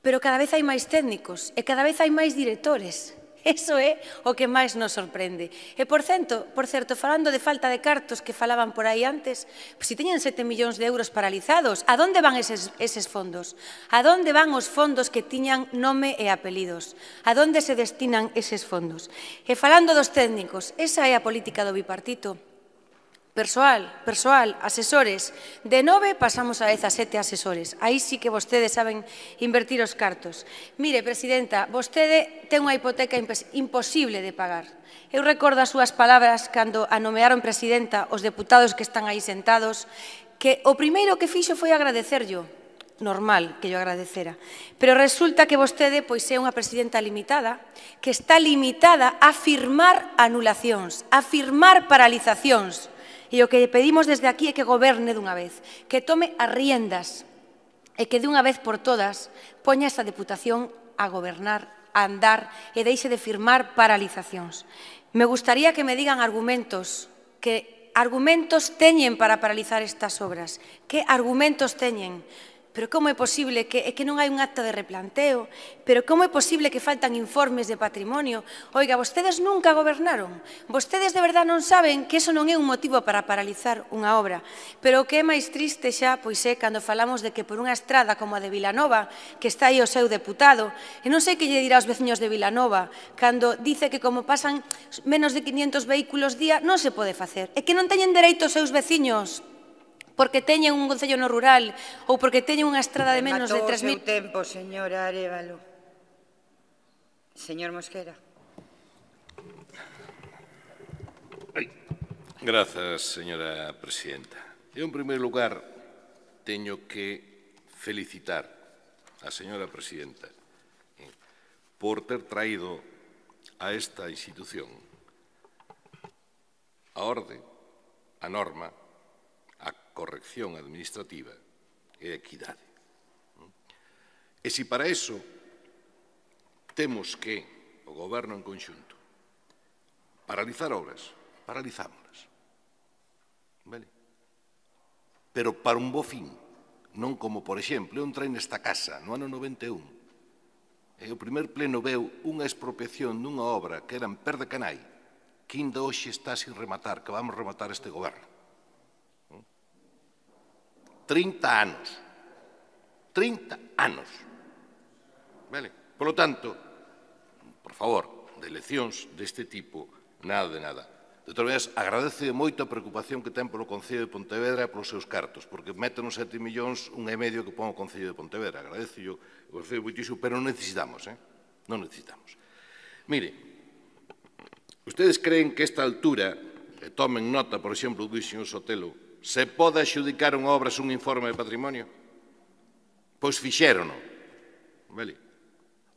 pero cada vez hai máis técnicos e cada vez hai máis directores. Eso é o que máis nos sorprende. E, por certo, falando de falta de cartos que falaban por aí antes, se teñen 7 millóns de euros paralizados, a donde van eses fondos? A donde van os fondos que tiñan nome e apelidos? A donde se destinan eses fondos? E falando dos técnicos, esa é a política do bipartito. Persoal, asesores. De 9 pasamos a 17 asesores. Aí sí que vostedes saben invertir os cartos. Mire, presidenta, vostede ten unha hipoteca imposible de pagar. Eu recordo as súas palabras cando a nomearon presidenta os deputados que están aí sentados, que o primeiro que fixo foi agradecerllo. Normal que yo agradecera. Pero resulta que vostede pois é unha presidenta limitada, que está limitada a firmar anulacións, a firmar paralizacións. E o que pedimos desde aquí é que goberne dunha vez, que tome as riendas e que dunha vez por todas poña esta Deputación a gobernar, a andar e deixe de firmar paralizacións. Me gustaría que me digan argumentos, que argumentos teñen para paralizar estas obras, que argumentos teñen. Pero como é posible que non hai un acta de replanteo? Pero como é posible que faltan informes de patrimonio? Oiga, vostedes nunca gobernaron. Vostedes de verdade non saben que eso non é un motivo para paralizar unha obra. Pero o que é máis triste xa, pois é cando falamos de que por unha estrada como a de Vilanova, que está aí o seu deputado, e non sei que lle dirá aos veciños de Vilanova, cando dice que como pasan menos de 500 vehículos día, non se pode facer. É que non teñen dereito os seus veciños porque teñen un concello no rural ou porque teñen unha estrada de menos de 3.000... Matou o seu tempo, señora Arévalo. Señor Mosquera. Grazas, señora presidenta. En primeiro lugar, teño que felicitar a señora presidenta por ter traído a esta institución a orde, a norma, a corrección administrativa e a equidade. E se para iso temos que, o Goberno en conxunto, paralizar obras, paralizámolas. Vale? Pero para un bo fin, non como, por exemplo, eu entrei nesta casa no ano 91 e o primer pleno veu unha expropiación dunha obra que era en Per de Canai, que ainda hoxe está sin rematar, que vamos rematar este Goberno. 30 anos. 30 anos. Vale? Por lo tanto, por favor, de eleccións deste tipo, nada de nada. De todas maneras, agradece moito a preocupación que ten polo Concello de Pontevedra e polos seus cartos, porque meten os 7 millóns, 1,5 que pon o Concello de Pontevedra. Agradece moitísimo, pero non necesitamos, non necesitamos. Mire, ustedes creen que a esta altura, tomen nota, por exemplo, do señor Sotelo, se pode adxudicar unha obra un informe de patrimonio? Pois fixérono. Vale.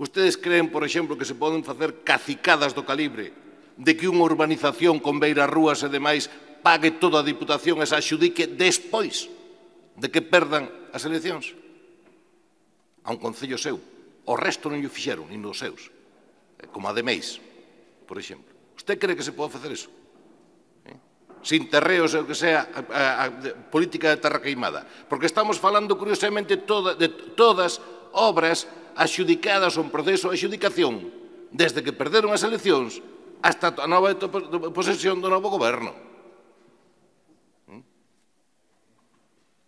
Ustedes creen, por exemplo, que se poden facer cacicadas do calibre de que unha urbanización con beiras rúas e demais pague toda a Diputación e se adxudique despois de que perdan as eleccións? A un concello seu. O resto non o fixeron, nin dos seus. Como a de Meis, por exemplo. Usted cree que se pode facer eso? sin terreos, o que sea, a política de terra queimada. Porque estamos falando, curiosamente, de todas obras axudicadas ou en proceso de adxudicación, desde que perderon as eleccións hasta a nova posesión do novo goberno.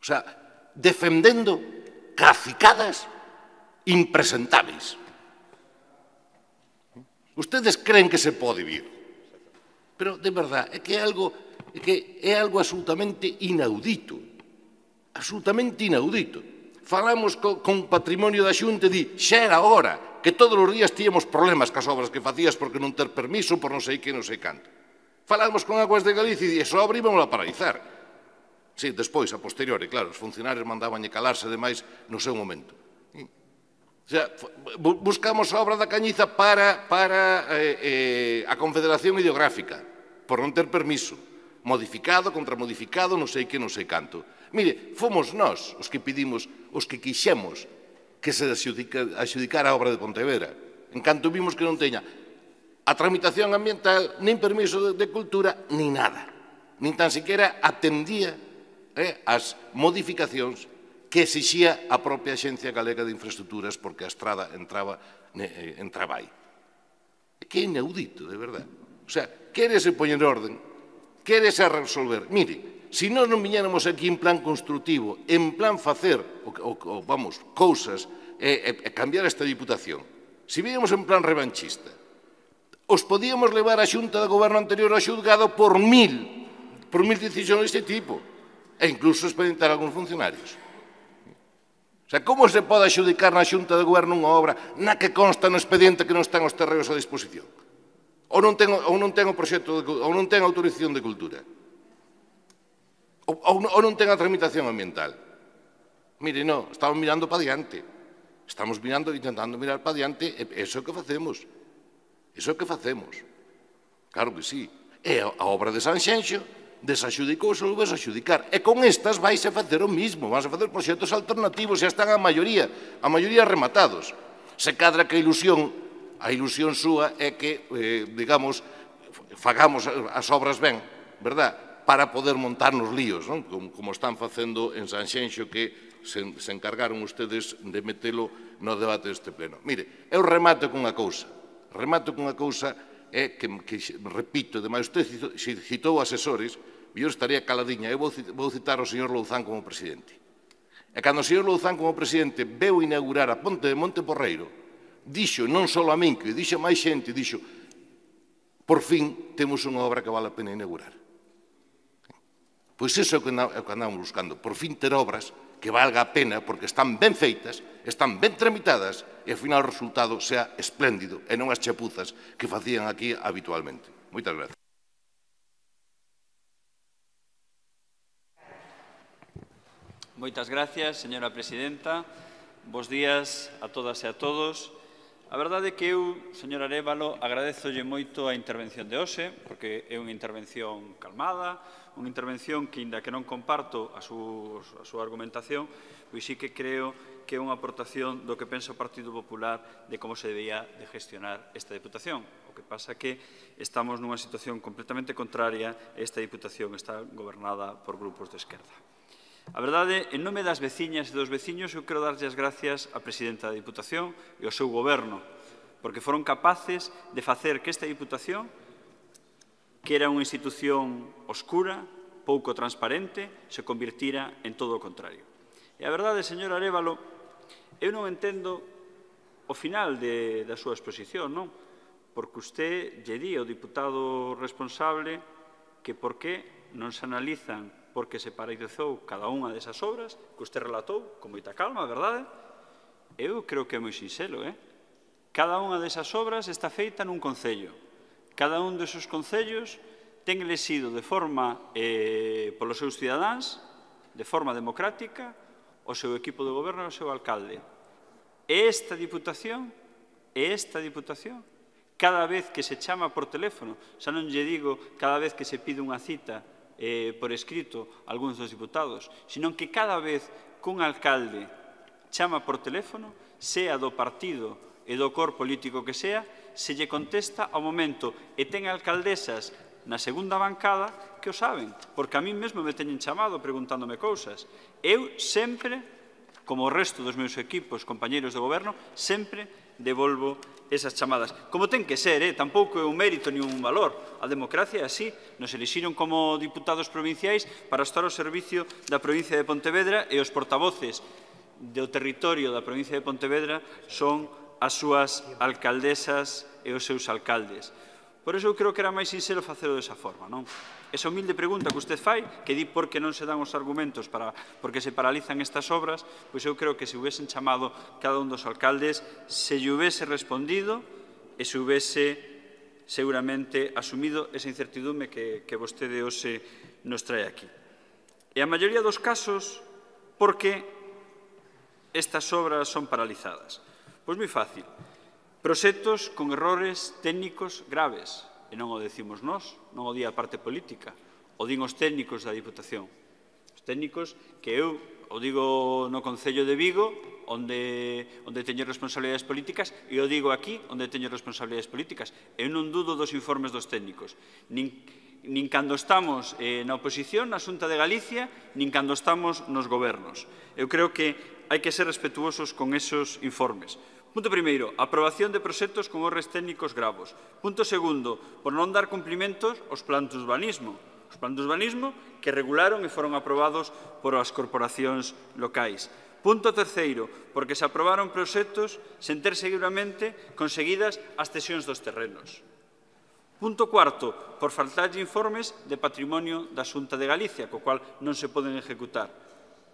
O sea, defendendo cacicadas impresentáveis. Ustedes creen que se pode vir, pero de verdad é que é algo absolutamente inaudito, absolutamente inaudito. Falamos con patrimonio da Xunta e di, xa era hora, que todos os días tíamos problemas cas obras que facías porque non ter permiso, por non sei que, non sei canto. Falamos con Aguas de Galicia e di, esa obra íbamos a paralizar. Sí, despois, a posteriori, claro, os funcionarios mandaban calarse demais no seu momento. O sea, buscamos a obra da Cañiza para a Confederación Hidrográfica, por non ter permiso, modificado, contramodificado, non sei que, non sei canto. Mire, fomos nós os que pedimos, os que quixemos que se adxudicara a obra de Pontevedra, en canto vimos que non teña a tramitación ambiental, nin permiso de cultura, nin nada. Nin tan siquiera atendía as modificacións que exixía a propia Axencia Galega de Infraestructuras porque a estrada entraba aí. Que é inaudito, de verdade. O sea, quérese poñer orden, quérese resolver. Mire, se nós non viñéramos aquí en plan constructivo, en plan facer, cousas, e cambiar esta Diputación, se viñéramos en plan revanchista, os podíamos levar a Xunta de Goberno anterior ao xulgado por mil decisións deste tipo, e incluso expedientar a algúns funcionarios. O sea, como se pode adxudicar na Xunta de Goberno unha obra na que consta no expediente que non están os terreos a disposición? Ou non ten o proxecto, ou non ten autorización de cultura? Ou non ten a tramitación ambiental? Mire, non, estamos mirando para diante. Estamos intentando mirar para diante, e iso é o que facemos. Iso é o que facemos. Claro que sí. E a obra de Sanxenxo desaxudicou e volveu a axudicar. E con estas vais a facer o mismo, vais a facer proxectos alternativos, xa están a maioría rematados. Se cadra que a ilusión súa é que, digamos, fagamos as obras ben, verdad? Para poder montar nos líos, non? Como están facendo en Sanxenxo, que se encargaron ustedes de metelo no debate deste pleno. Mire, eu remato cunha cousa, é que, repito, ademais, usted citou asesores, e eu estaría caladinha. Eu vou citar ao señor Louzán como presidente. E cando o señor Louzán como presidente veu inaugurar a ponte de Monteporreiro, dixo, non só a min, que dixo máis xente, dixo, por fin temos unha obra que vale a pena inaugurar. Pois iso é o que andamos buscando, por fin ter obras que valga a pena porque están ben feitas, están ben tramitadas e ao final o resultado sea espléndido e non as chapuzas que facían aquí habitualmente. Moitas gracias. Moitas gracias, señora presidenta. Bos días a todas e a todos. A verdade é que eu, señor Arévalo, agradezolle moito a intervención de hoxe, porque é unha intervención calmada, unha intervención que, inda que non comparto a súa argumentación, pois sí que creo que é unha aportación do que pensa o Partido Popular de como se debía de gestionar esta Diputación. O que pasa que estamos nunha situación completamente contraria e esta Diputación está gobernada por grupos de esquerda. A verdade, en nome das veciñas e dos veciños, eu quero darlle as gracias á presidenta da Diputación e ao seu goberno, porque foron capaces de facer que esta Diputación, que era unha institución oscura, pouco transparente, se convirtira en todo o contrario. E a verdade, señor Arévalo, eu non entendo o final da súa exposición, non? Porque usted lle di ao diputado responsable que por que non se analizan porque se paralizou cada unha desas obras que usted relatou con moita calma, verdade? Eu creo que é moi sinxelo, Cada unha desas obras está feita nun concello. Cada un desos concellos ten elexido de forma polos seus cidadáns, de forma democrática, o seu equipo de goberno e o seu alcalde. E esta Diputación, cada vez que se chama por teléfono, xa non lle digo cada vez que se pide unha cita por escrito a algúns dos diputados, sino que cada vez que un alcalde chama por teléfono, sea do partido e do cor político que sea, se lle contesta ao momento e ten alcaldesas na segunda bancada que o saben, porque a mí mesmo me teñen chamado preguntándome cousas. Eu sempre, como o resto dos meus equipos, compañeiros de goberno, sempre devolvo esas chamadas. Como ten que ser, tampouco é un mérito ni un valor. A democracia é así. Nos elixiron como diputados provinciais para estar ao servicio da provincia de Pontevedra e os portavoces do territorio da provincia de Pontevedra son as súas alcaldesas e os seus alcaldes. Por iso eu creo que era máis sincero facelo desa forma, non? Esa humilde pregunta que usted fai, que di por que non se dan os argumentos por que se paralizan estas obras, pois eu creo que se hubiesen chamado cada un dos alcaldes, se lle hubiese respondido e se hubiese seguramente asumido esa incertidumbre que vostede hoxe nos trae aquí. E a maioría dos casos, por que estas obras son paralizadas? Pois moi fácil. Proxectos con errores técnicos graves, e non o decimos nós, non o di a parte política, o din os técnicos da Diputación. Os técnicos que eu o digo no Concello de Vigo, onde teño responsabilidades políticas, e o digo aquí, onde teño responsabilidades políticas. Eu non dudo dos informes dos técnicos, nin cando estamos na oposición, na Xunta de Galicia, nin cando estamos nos gobernos. Eu creo que hai que ser respetuosos con esos informes. Punto primeiro, aprobación de proxectos con errores técnicos gravos. Punto segundo, por non dar cumplimentos aos plans de urbanismo. Os plans de urbanismo que regularon e foron aprobados por as corporacións locais. Punto terceiro, porque se aprobaron proxectos sen ter seguramente conseguidas as cesións dos terrenos. Punto cuarto, por faltar de informes de patrimonio da Xunta de Galicia, co cual non se poden ejecutar.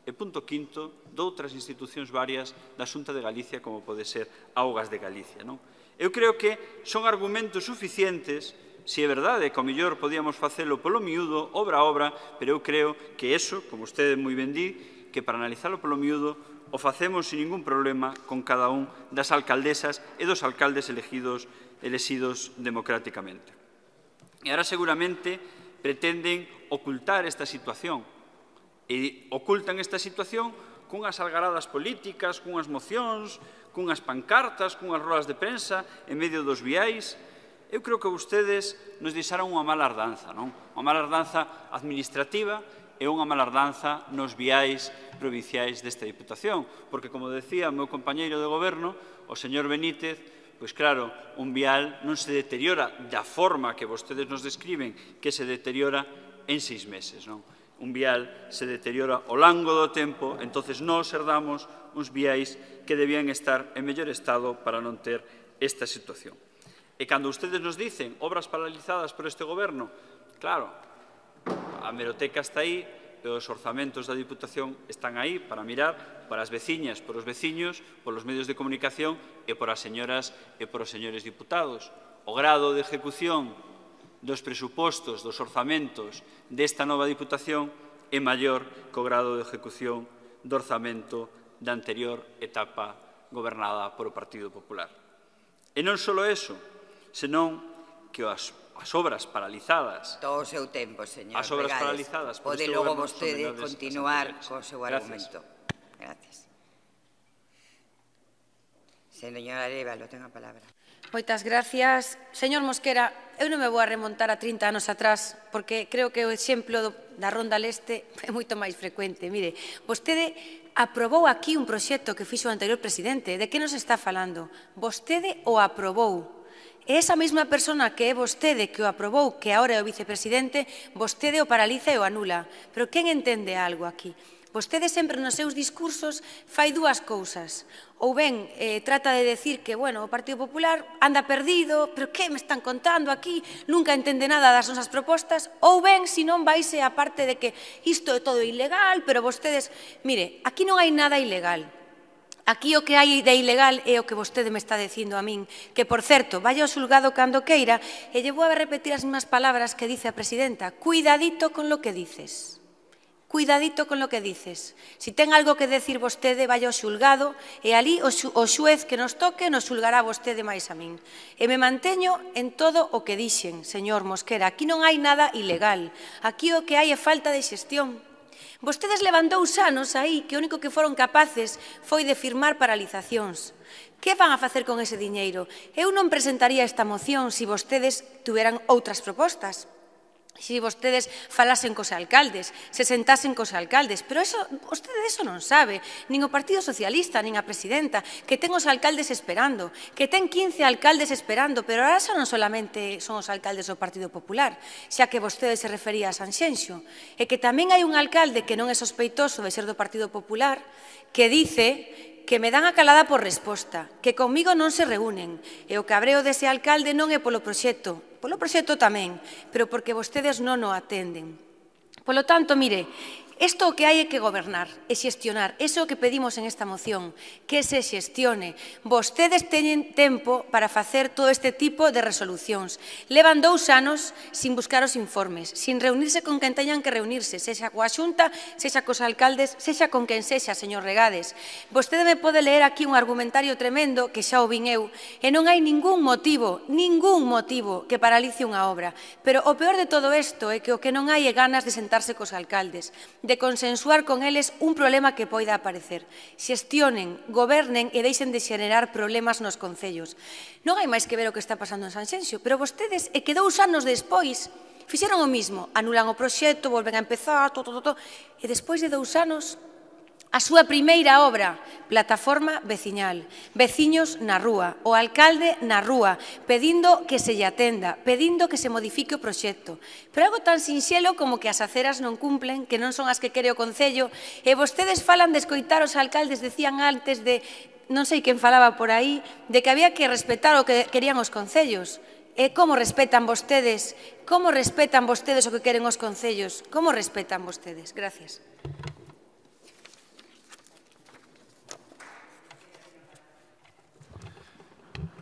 E punto quinto, doutras institucións varias da Xunta de Galicia, como pode ser Augas de Galicia. Eu creo que son argumentos suficientes, se é verdade que ao mellor podíamos facelo polo miúdo, obra a obra, pero eu creo que eso, como vostede moi ben di, que para analizalo polo miúdo o facemos sin ningún problema con cada un das alcaldesas e dos alcaldes elexidos democráticamente. E agora seguramente pretenden ocultar esta situación. E ocultan esta situación cunhas algaradas políticas, cunhas mocións, cunhas pancartas, cunhas rodas de prensa, en medio dos viais. Eu creo que vostedes nos deixaron unha mala ardanza, non? Unha mala ardanza administrativa e unha mala ardanza nos viais provinciais desta Diputación. Porque, como decía o meu compañeiro de goberno, o señor Benítez, pois claro, un vial non se deteriora da forma que vostedes nos describen que se deteriora en 6 meses, non? Un vial se deteriora ao longo do tempo, entonces nós herdamos uns viais que debían estar en mellor estado para non ter esta situación. E cando ustedes nos dicen obras paralizadas por este goberno, claro, a hemeroteca está aí, e os orzamentos da Diputación están aí para mirar para as veciñas, por os veciños, polos medios de comunicación e por as señoras e por os señores diputados. O grado de ejecución dos presupostos, dos orzamentos desta nova Diputación é maior que o grado de ejecución do orzamento da anterior etapa gobernada por o Partido Popular. E non só eso, senón que as obras paralizadas... Todo o seu tempo, señor. As obras paralizadas por este goberno son menores. Pode logo vostede continuar co seu argumento. Gracias. Señora Arévalo, ten a palabra. Moitas gracias. Señor Mosquera, eu non me vou a remontar a 30 anos atrás, porque creo que o exemplo da Ronda Leste é moito máis frecuente. Mire, vostede aprobou aquí un proxecto que fixo o anterior presidente. De que nos está falando? Vostede o aprobou. E esa mesma persona que é vostede que o aprobou, que agora é o vicepresidente, vostede o paraliza e o anula. Pero quen entende algo aquí? Vostede sempre nos seus discursos fai dúas cousas. Ou ben trata de decir que, bueno, o Partido Popular anda perdido, pero que me están contando aquí? Nunca entende nada das nosas propostas. Ou ben, se non vaise a parte de que isto é todo ilegal, pero vostedes... Mire, aquí non hai nada ilegal. Aquí o que hai de ilegal é o que vostede me está dicindo a min, que, por certo, vai ao xulgado cando queira, e lle vou a repetir as mesmas palabras que dice a presidenta. Cuidadito con lo que dices. Cuidadito con lo que dices. Si ten algo que decir vostede, vai ao xulgado, e ali o xuez que nos toque nos xulgará vostede máis a min. E me manteño en todo o que dixen, señor Mosquera. Aquí non hai nada ilegal. Aquí o que hai é falta de xestión. Vostedes levan 2 anos aí que o único que foron capaces foi de firmar paralizacións. Que van a facer con ese diñeiro? Eu non presentaría esta moción se vostedes tuveran outras propostas. se vostedes falasen cos alcaldes, se sentasen cos alcaldes, pero vostede eso non sabe, nin o Partido Socialista, nin a presidenta, que ten os alcaldes esperando, que ten 15 alcaldes esperando, pero ahora xa non solamente son os alcaldes do Partido Popular, xa que vostede se refería a Sanxenxo, e que tamén hai un alcalde que non é sospeitoso de ser do Partido Popular, que dice que me dan a calada por resposta, que comigo non se reúnen, e o cabreo dese alcalde non é polo proxecto tamén, pero porque vostedes non o atenden. Polo tanto, mire, isto o que hai é que gobernar e xestionar. Iso é o que pedimos en esta moción, que se xestione. Vostedes teñen tempo para facer todo este tipo de resolucións. Levan 2 anos sin buscar os informes, sin reunirse con quen teñan que reunirse, sexa coa Xunta, sexa cos alcaldes, sexa con quen sexa, señor Regades. Vostede me pode leer aquí un argumentario tremendo, que xa o vin eu, e non hai ningún motivo que paralice unha obra. Pero o peor de todo isto é que o que non hai é ganas de sentarse cos alcaldes, de consensuar con eles un problema que poida aparecer. Xestionen, gobernen e deixen de xenerar problemas nos concellos. Non hai máis que ver o que está pasando en Sanxenxo, pero vostedes, e que 2 anos despois, fixeron o mismo, anulan o proxecto, volven a empezar, e despois de 2 anos, a súa primeira obra, plataforma veciñal, veciños na rúa, o alcalde na rúa, pedindo que se lle atenda, pedindo que se modifique o proxecto. Pero algo tan sinxelo como que as aceras non cumplen, que non son as que quere o Concello, e vostedes falan de escoitar os alcaldes, decían antes de, non sei quen falaba por aí, de que había que respetar o que querían os concellos. E como respetan vostedes o que queren os concellos? Como respetan vostedes? Gracias.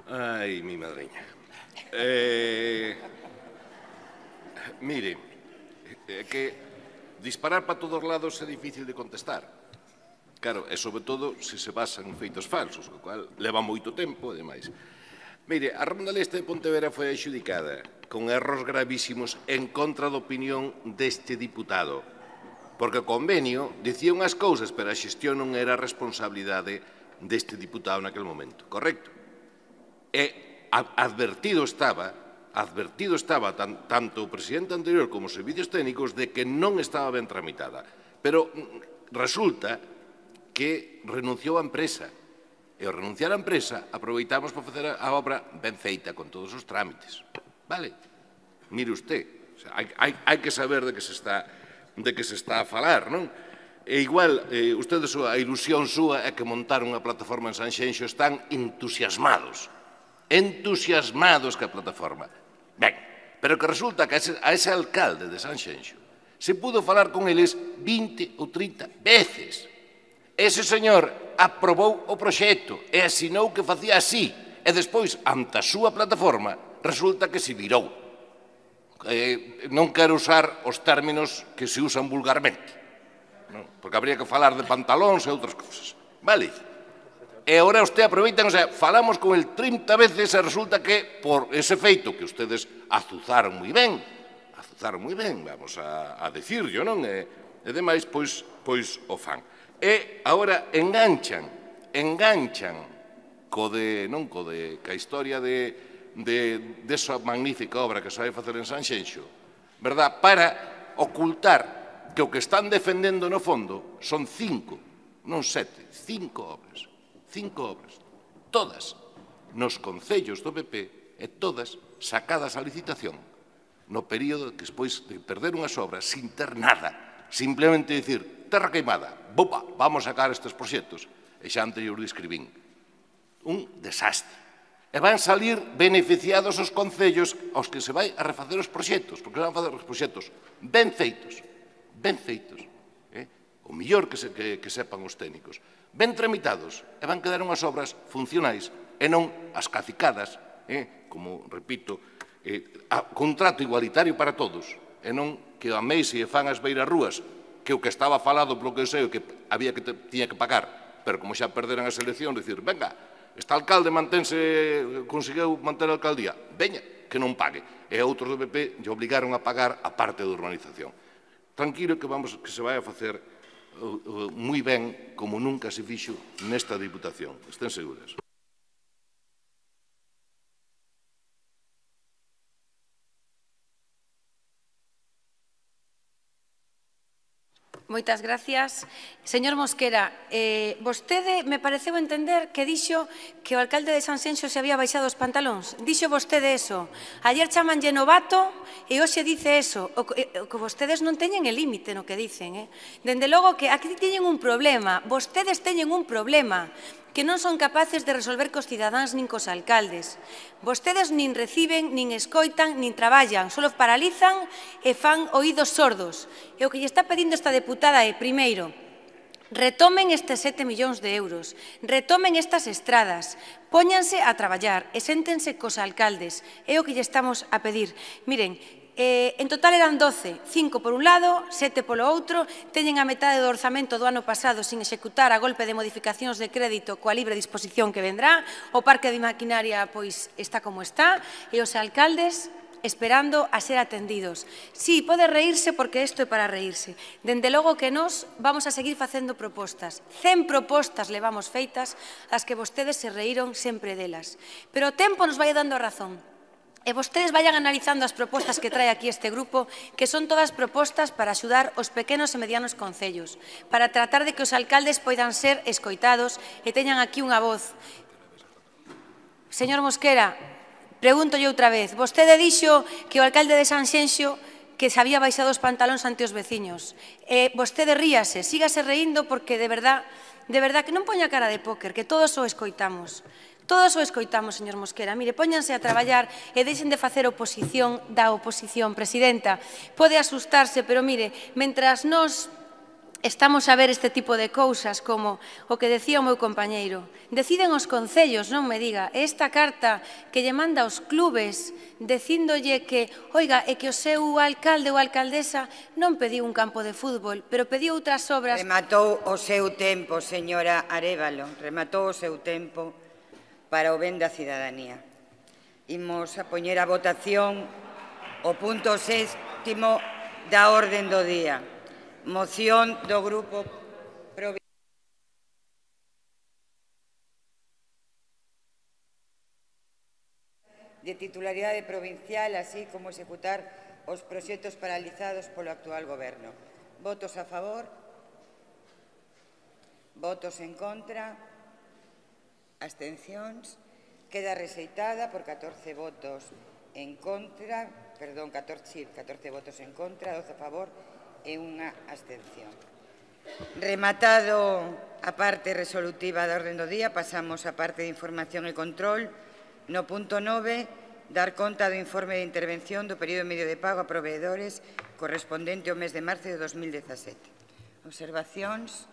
Ai, mi madriña. Mire, que disparar para todos lados é difícil de contestar. Claro, e sobre todo se se basan en feitos falsos, o cual leva moito tempo e demais. Mire, a Ronda Leste de Pontevedra foi adxudicada con erros gravísimos en contra da opinión deste diputado, porque o convenio dicía unhas cousas, pero a xestión non era responsabilidade deste diputado naquele momento, correcto? E advertido estaba tanto o presidente anterior como os servicios técnicos de que non estaba ben tramitada. Pero resulta que renunciou a empresa. E ao renunciar a empresa, aproveitamos para facer a obra ben feita, con todos os trámites. Vale? Mire usted, hai que saber de que se está a falar, non? E igual, ustedes, a ilusión súa é que montar unha plataforma en Sanxenxo están entusiasmados que a plataforma. Ben, pero que resulta que a ese alcalde de Sanxenxo se pudo falar con eles 20 ou 30 veces. Ese señor aprobou o proxecto e asinou que facía así, e despois, ante a súa plataforma, resulta que se virou. Non quero usar os términos que se usan vulgarmente, porque habría que falar de pantalóns e outras cousas. Vale? E agora usted aproveitan, o sea, falamos con el 30 veces e resulta que por ese feito que ustedes azuzaron moi ben, vamos a decirlo, non? E demais, pois o fan. E agora enganchan ca historia desa magnífica obra que se vai facer en Sanxenxo, verdad? Para ocultar que o que están defendendo no fondo son 5, non 7, 5 obras. 5 obras, todas nos concellos do PP e todas sacadas a licitación no período que despois de perder unhas obras sin ter nada, simplemente dicir, terra queimada, bopa, vamos a sacar estes proxectos, e xa antes eu describín. Un desastre. E van salir beneficiados os concellos aos que se vai a refacer os proxectos, porque van a facer os proxectos ben feitos, o mellor que sepan os técnicos, ben tramitados, e van quedar unhas obras funcionais e non as cacicadas, como, repito, contrato igualitario para todos, e non que a Meise e fan as beirarrúas, que o que estaba falado polo que eu sei que tiña que pagar, pero como xa perderan as eleccións, dicir, venga, este alcalde conseguiu manter a alcaldía, veña, que non pague. E outros do PP lle obligaron a pagar a parte da urbanización. Tranquilo que se vai a facer moi ben, como nunca se fixo nesta Diputación. Estén seguras. Moitas gracias. Señor Mosquera, vostede me pareceu entender que dixo que o alcalde de Sanxenxo se había baixado os pantalóns. Dixo vostede eso. Ayer chamanlle novato e hoxe dice eso. O que vostedes non teñen el límite no que dicen. Dende logo que aquí teñen un problema. Vostedes teñen un problema que non son capaces de resolver cos cidadáns nin cos alcaldes. Vostedes nin reciben, nin escoitan, nin traballan, só paralizan e fan oídos sordos. E o que lle está pedindo esta deputada é, primeiro, retomen estes 7 millóns de euros, retomen estas estradas, póñanse a traballar e séntense cos alcaldes. É o que lle estamos a pedir. Miren, en total eran 12, 5 por un lado, 7 polo outro, teñen a metade do orzamento do ano pasado sin executar a golpe de modificacións de crédito coa libre disposición que vendrá, o parque de maquinaria pois está como está, e os alcaldes esperando a ser atendidos. Sí, pode reírse porque isto é para reírse. Dende logo que nós vamos a seguir facendo propostas. 100 propostas levamos feitas, as que vostedes se reíron sempre delas. Pero o tempo nos vai dando a razón. E vostedes vayan analizando as propostas que trae aquí este grupo, que son todas propostas para axudar os pequenos e medianos concellos, para tratar de que os alcaldes poidan ser escoitados e teñan aquí unha voz. Señor Mosquera, pregúntolle outra vez. Vostede dixo que o alcalde de Sanxenxo que se había baixado os pantalóns ante os veciños. Vostede ríase, sígase reíndo porque de verdad que non poña cara de póker, que todos o escoitamos. Todos o escoitamos, señor Mosquera. Mire, póñanse a traballar e deixen de facer oposición da oposición. Presidenta, pode asustarse, pero mire, mentras nós estamos a ver este tipo de cousas como o que decía o meu compañeiro, deciden os concellos, non me diga, esta carta que lle manda aos clubes dicíndolle que, oiga, é que o seu alcalde ou alcaldesa non pediu un campo de fútbol, pero pediu outras obras. Rematou o seu tempo, señora Arévalo, rematou o seu tempo para o ben da cidadanía. Imos a poñer a votación o punto 6º da orden do día. Moción do Grupo Provincial de titularidade provincial, así como executar os proxectos paralizados polo actual Goberno. Votos a favor? Votos en contra? Abstencións, queda rexeitada por 14 votos en contra, perdón, 14 votos en contra, 12 a favor e unha abstención. Rematado a parte resolutiva da orde do día, pasamos á parte de información e control. No punto 9, dar conta do informe de intervención do período medio de pago a proveedores correspondente ao mes de marzo de 2017. Observacións,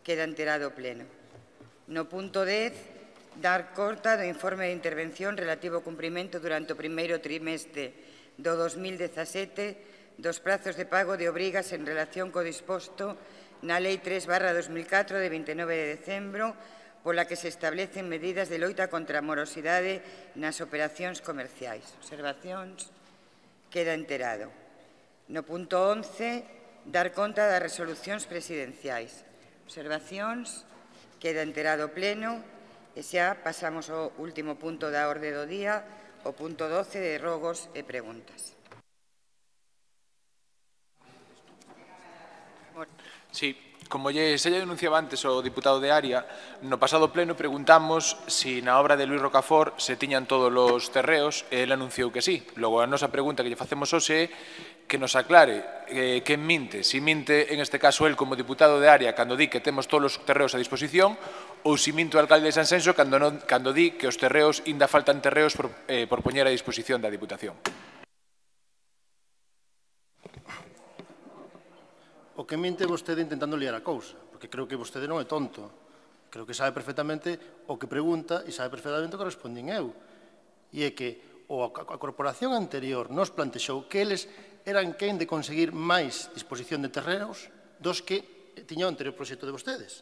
queda enterado o pleno. No punto 10, dar conta do informe de intervención relativo ao cumprimento durante o primeiro trimestre do 2017 dos prazos de pago de obrigas en relación co disposto na Lei 3/2004 de 29 de decembro, pola que se establecen medidas de loita contra a morosidade nas operacións comerciais. Observacións, queda enterado. No punto 11, dar conta das resolucións presidenciais. Observacións, queda enterado o pleno. E xa pasamos ao último punto da orde do día, o punto 12 de rogos e preguntas. Sí, como xa denunciaba antes o diputado de Área, no pasado pleno preguntamos si na obra de Luis Rocafort se tiñan todos os terreos e ele anunciou que sí. Logo, a nosa pregunta que lle facemos hoxe é que nos aclare quen minte, si minte en este caso el como diputado de Área cando di que temos todos os terreos a disposición ou si minte o alcalde de Sanxenxo cando di que os terreos ainda faltan terreos por poñer a disposición da Diputación. O que minte vostede intentando liar a cousa, porque creo que vostede non é tonto. Creo que sabe perfectamente o que pregunta e sabe perfectamente o que respondín eu. E é que a corporación anterior nos plantexou que eles eran quen de conseguir máis disposición de terreos dos que tiña o anterior proxecto de vostedes.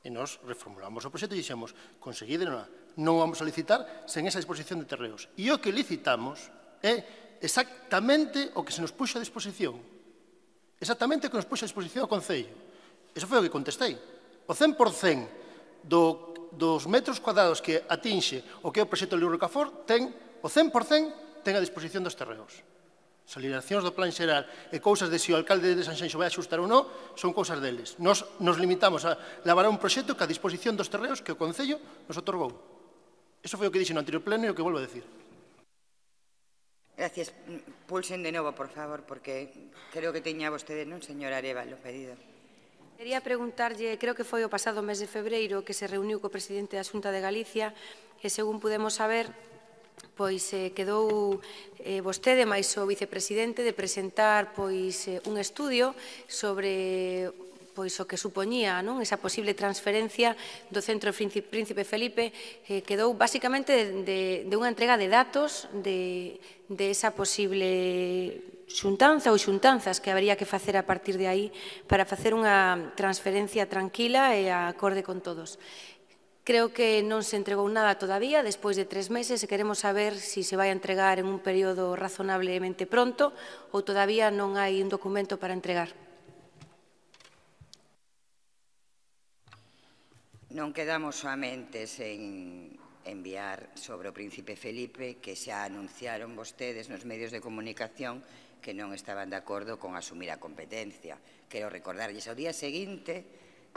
E nos reformulamos o proxecto e dixemos, conseguídeno, non vamos a licitar sen esa disposición de terreos. E o que licitamos é exactamente o que se nos puxo a disposición. Exactamente o que nos puxo a disposición ao Concello. Eso foi o que contestei. O 100% dos metros cuadrados que atinxe o que é o proxecto de Luis Rocafort ten o 100% ten a disposición dos terreos. As limitacións do plan xeral e cousas de se o alcalde de Sanxenxo vai axustar ou non son cousas deles. Nos limitamos a elaborar un proxecto que a disposición dos terreos que o Concello nos otorgou. Iso foi o que dixen no anterior pleno e o que volvo a decir. Gracias. Pulsen de novo, por favor, porque creo que teña vostede, non, señor Arévalo, pedido. Quería preguntarlle, creo que foi o pasado mes de febreiro que se reuniu co presidente da Xunta de Galicia e, según pudemos saber, pois quedou vostede máis o vicepresidente de presentar un estudio sobre o que supoñía esa posible transferencia do Centro Príncipe Felipe, quedou basicamente de unha entrega de datos de esa posible xuntanza ou xuntanzas que habería que facer a partir de aí para facer unha transferencia tranquila e a acorde con todos. Creo que non se entregou nada todavía, despois de 3 meses, e queremos saber se se vai a entregar en un período razonablemente pronto ou todavía non hai un documento para entregar. Non quedamos soamente en enviar sobre o Príncipe Felipe, que xa anunciaron vostedes nos medios de comunicación que non estaban de acordo con asumir a competencia. Quero recordarlles ao día seguinte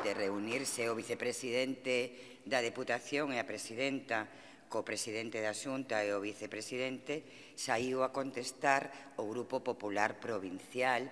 de reunirse o vicepresidente da Deputación e a presidenta co presidente da Xunta e o vicepresidente, saiu a contestar o Grupo Popular Provincial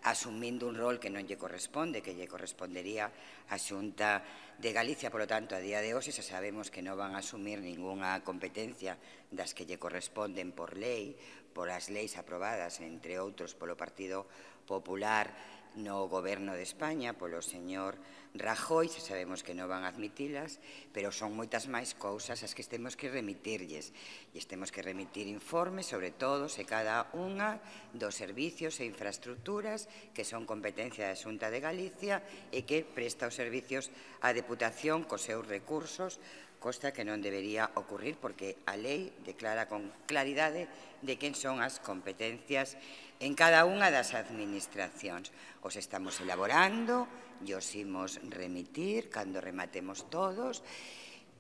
asumindo un rol que non lle corresponde, que lle correspondería a Xunta de Galicia. Por lo tanto, a día de hoxe xa sabemos que non van a asumir ningunha competencia das que lle corresponden por lei, por as leis aprobadas, entre outros, polo Partido Popular no Goberno de España, polo señor Rajoy, xa sabemos que non van a admitilas, pero son moitas máis cousas as que temos que remitirlles. E temos que remitir informes sobre todos e cada unha dos servicios e infraestructuras que son competencia da Xunta de Galicia e que presta os servicios á Deputación cos seus recursos, cosa que non debería ocurrir porque a lei declara con claridade de quen son as competencias en cada unha das administracións. Os estamos elaborando e os imos remitir cando rematemos todos.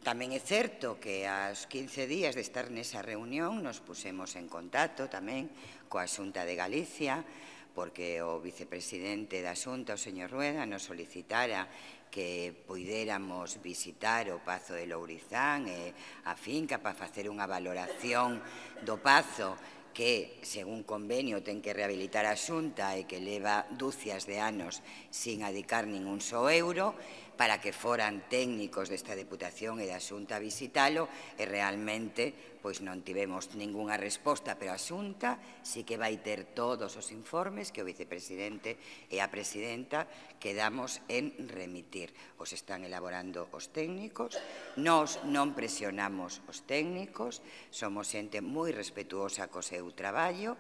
Tamén é certo que aos 15 días de estar nesa reunión nos pusemos en contacto tamén coa Xunta de Galicia porque o vicepresidente da Xunta, o señor Rueda, nos solicitara que puidéramos visitar o Pazo de Lourizán e a finca para facer unha valoración do Pazo que, según convenio, ten que rehabilitar a Xunta e que leva dúcias de anos sin adicar ningún só euro, para que foran técnicos desta Deputación e da Xunta a visitalo e realmente pois non tivemos ningunha resposta, pero a Xunta sí que vai ter todos os informes que o vicepresidente e a presidenta quedamos en remitir. Os están elaborando os técnicos, nós non presionamos os técnicos, somos xente moi respetuosa co seu traballo,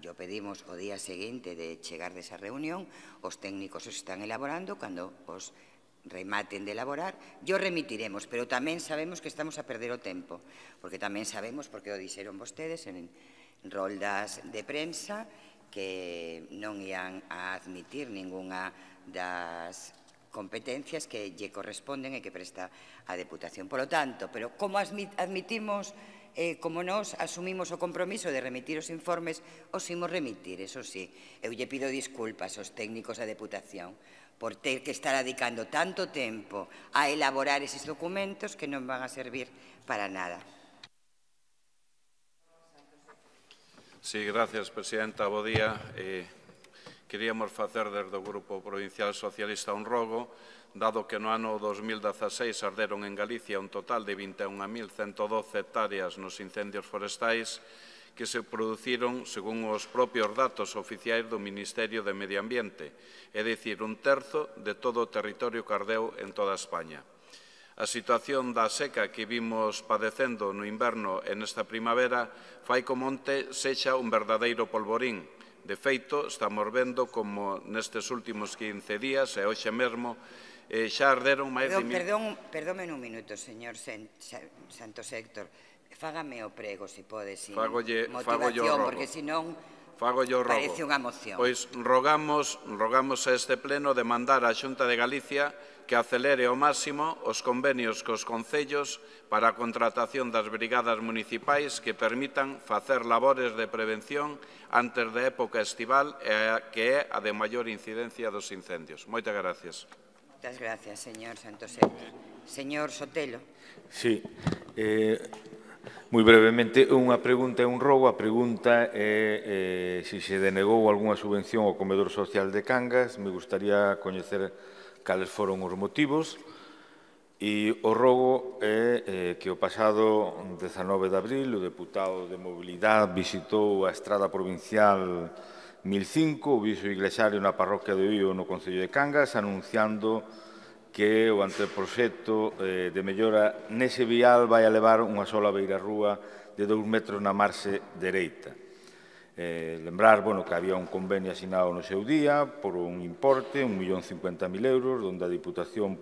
yo pedimos o día seguinte de chegar desa reunión, os técnicos os están elaborando, cando os rematen de elaborar, yo remitiremos, pero tamén sabemos que estamos a perder o tempo, porque tamén sabemos, porque o dixeron vostedes en roldas de prensa, que non ian a admitir ningunha das competencias que lle corresponden e que presta a Deputación. Por lo tanto, pero como admitimos, como nos asumimos o compromiso de remitir os informes, os imos remitir, eso sí. Eu lle pido disculpas aos técnicos da Deputación por ter que estar dedicando tanto tempo a elaborar eses documentos que non van a servir para nada. Sí, gracias, presidenta. Bo día. Queríamos facer desde o Grupo Provincial Socialista un rogo, dado que no ano 2016 arderon en Galicia un total de 21.112 hectáreas nos incendios forestais que se produciron según os propios datos oficiais do Ministerio de Medio Ambiente, é dicir, un terzo de todo o territorio que ardeu en toda España. A situación da seca que vimos padecendo no inverno e nesta primavera fai que o monte sexa un verdadeiro polvorín. De feito, estamos vendo como nestes últimos 15 días e hoxe mesmo xa arderon máis de... Perdón un minuto, señor Santos Héctor. Fágame o prego, se pode, sin motivación, porque senón parece unha moción. Pois rogamos a este pleno de mandar á Xunta de Galicia que acelere ao máximo os convenios cos concellos para a contratación das brigadas municipais que permitan facer labores de prevención antes da época estival que é a de maior incidencia dos incendios. Moitas gracias. Moitas gracias, señor Santoseus. Señor Sotelo. Sí. Moi brevemente, unha pregunta e un rogo. A pregunta é se se denegou algunha subvención ao comedor social de Cangas. Me gustaría coñecer cales foron os motivos. E o rogo é que o pasado 19 de abril o deputado de Mobilidade visitou a estrada provincial 1005, o viso iglesiario na parroquia de Oío no Concello de Cangas, anunciando que o anteproxecto de mellora nese vial vai a levar unha sola beirarrúa de 2 metros na marxe dereita. Lembrar que había un convenio asinado no seu día por un importe, 1.050.000 euros, onde a Diputación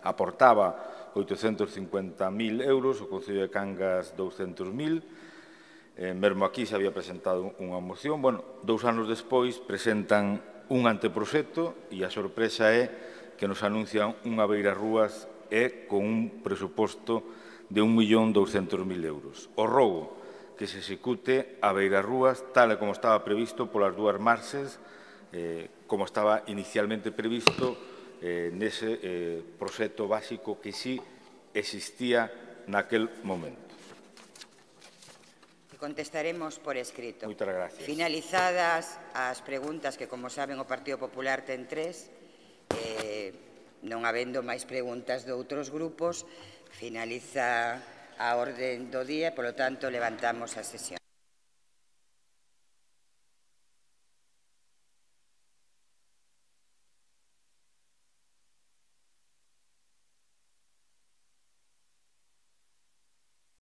aportaba 850.000 euros, o Concello de Cangas 200.000. Mesmo aquí se había presentado unha moción. 2 anos despois presentan un anteproxecto e a sorpresa é que nos anuncian unha beirarrúas e con un presuposto de 1.200.000 euros. O rogo que se execute a beirarrúas tal e como estaba previsto polas dúas marxes, como estaba inicialmente previsto nese proxecto básico que sí existía naquel momento. Contestaremos por escrito. Moitas gracias. Finalizadas as preguntas que, como saben, o Partido Popular ten 3, non habendo máis preguntas de outros grupos, finaliza a orde do día e, polo tanto, levantamos a sesión.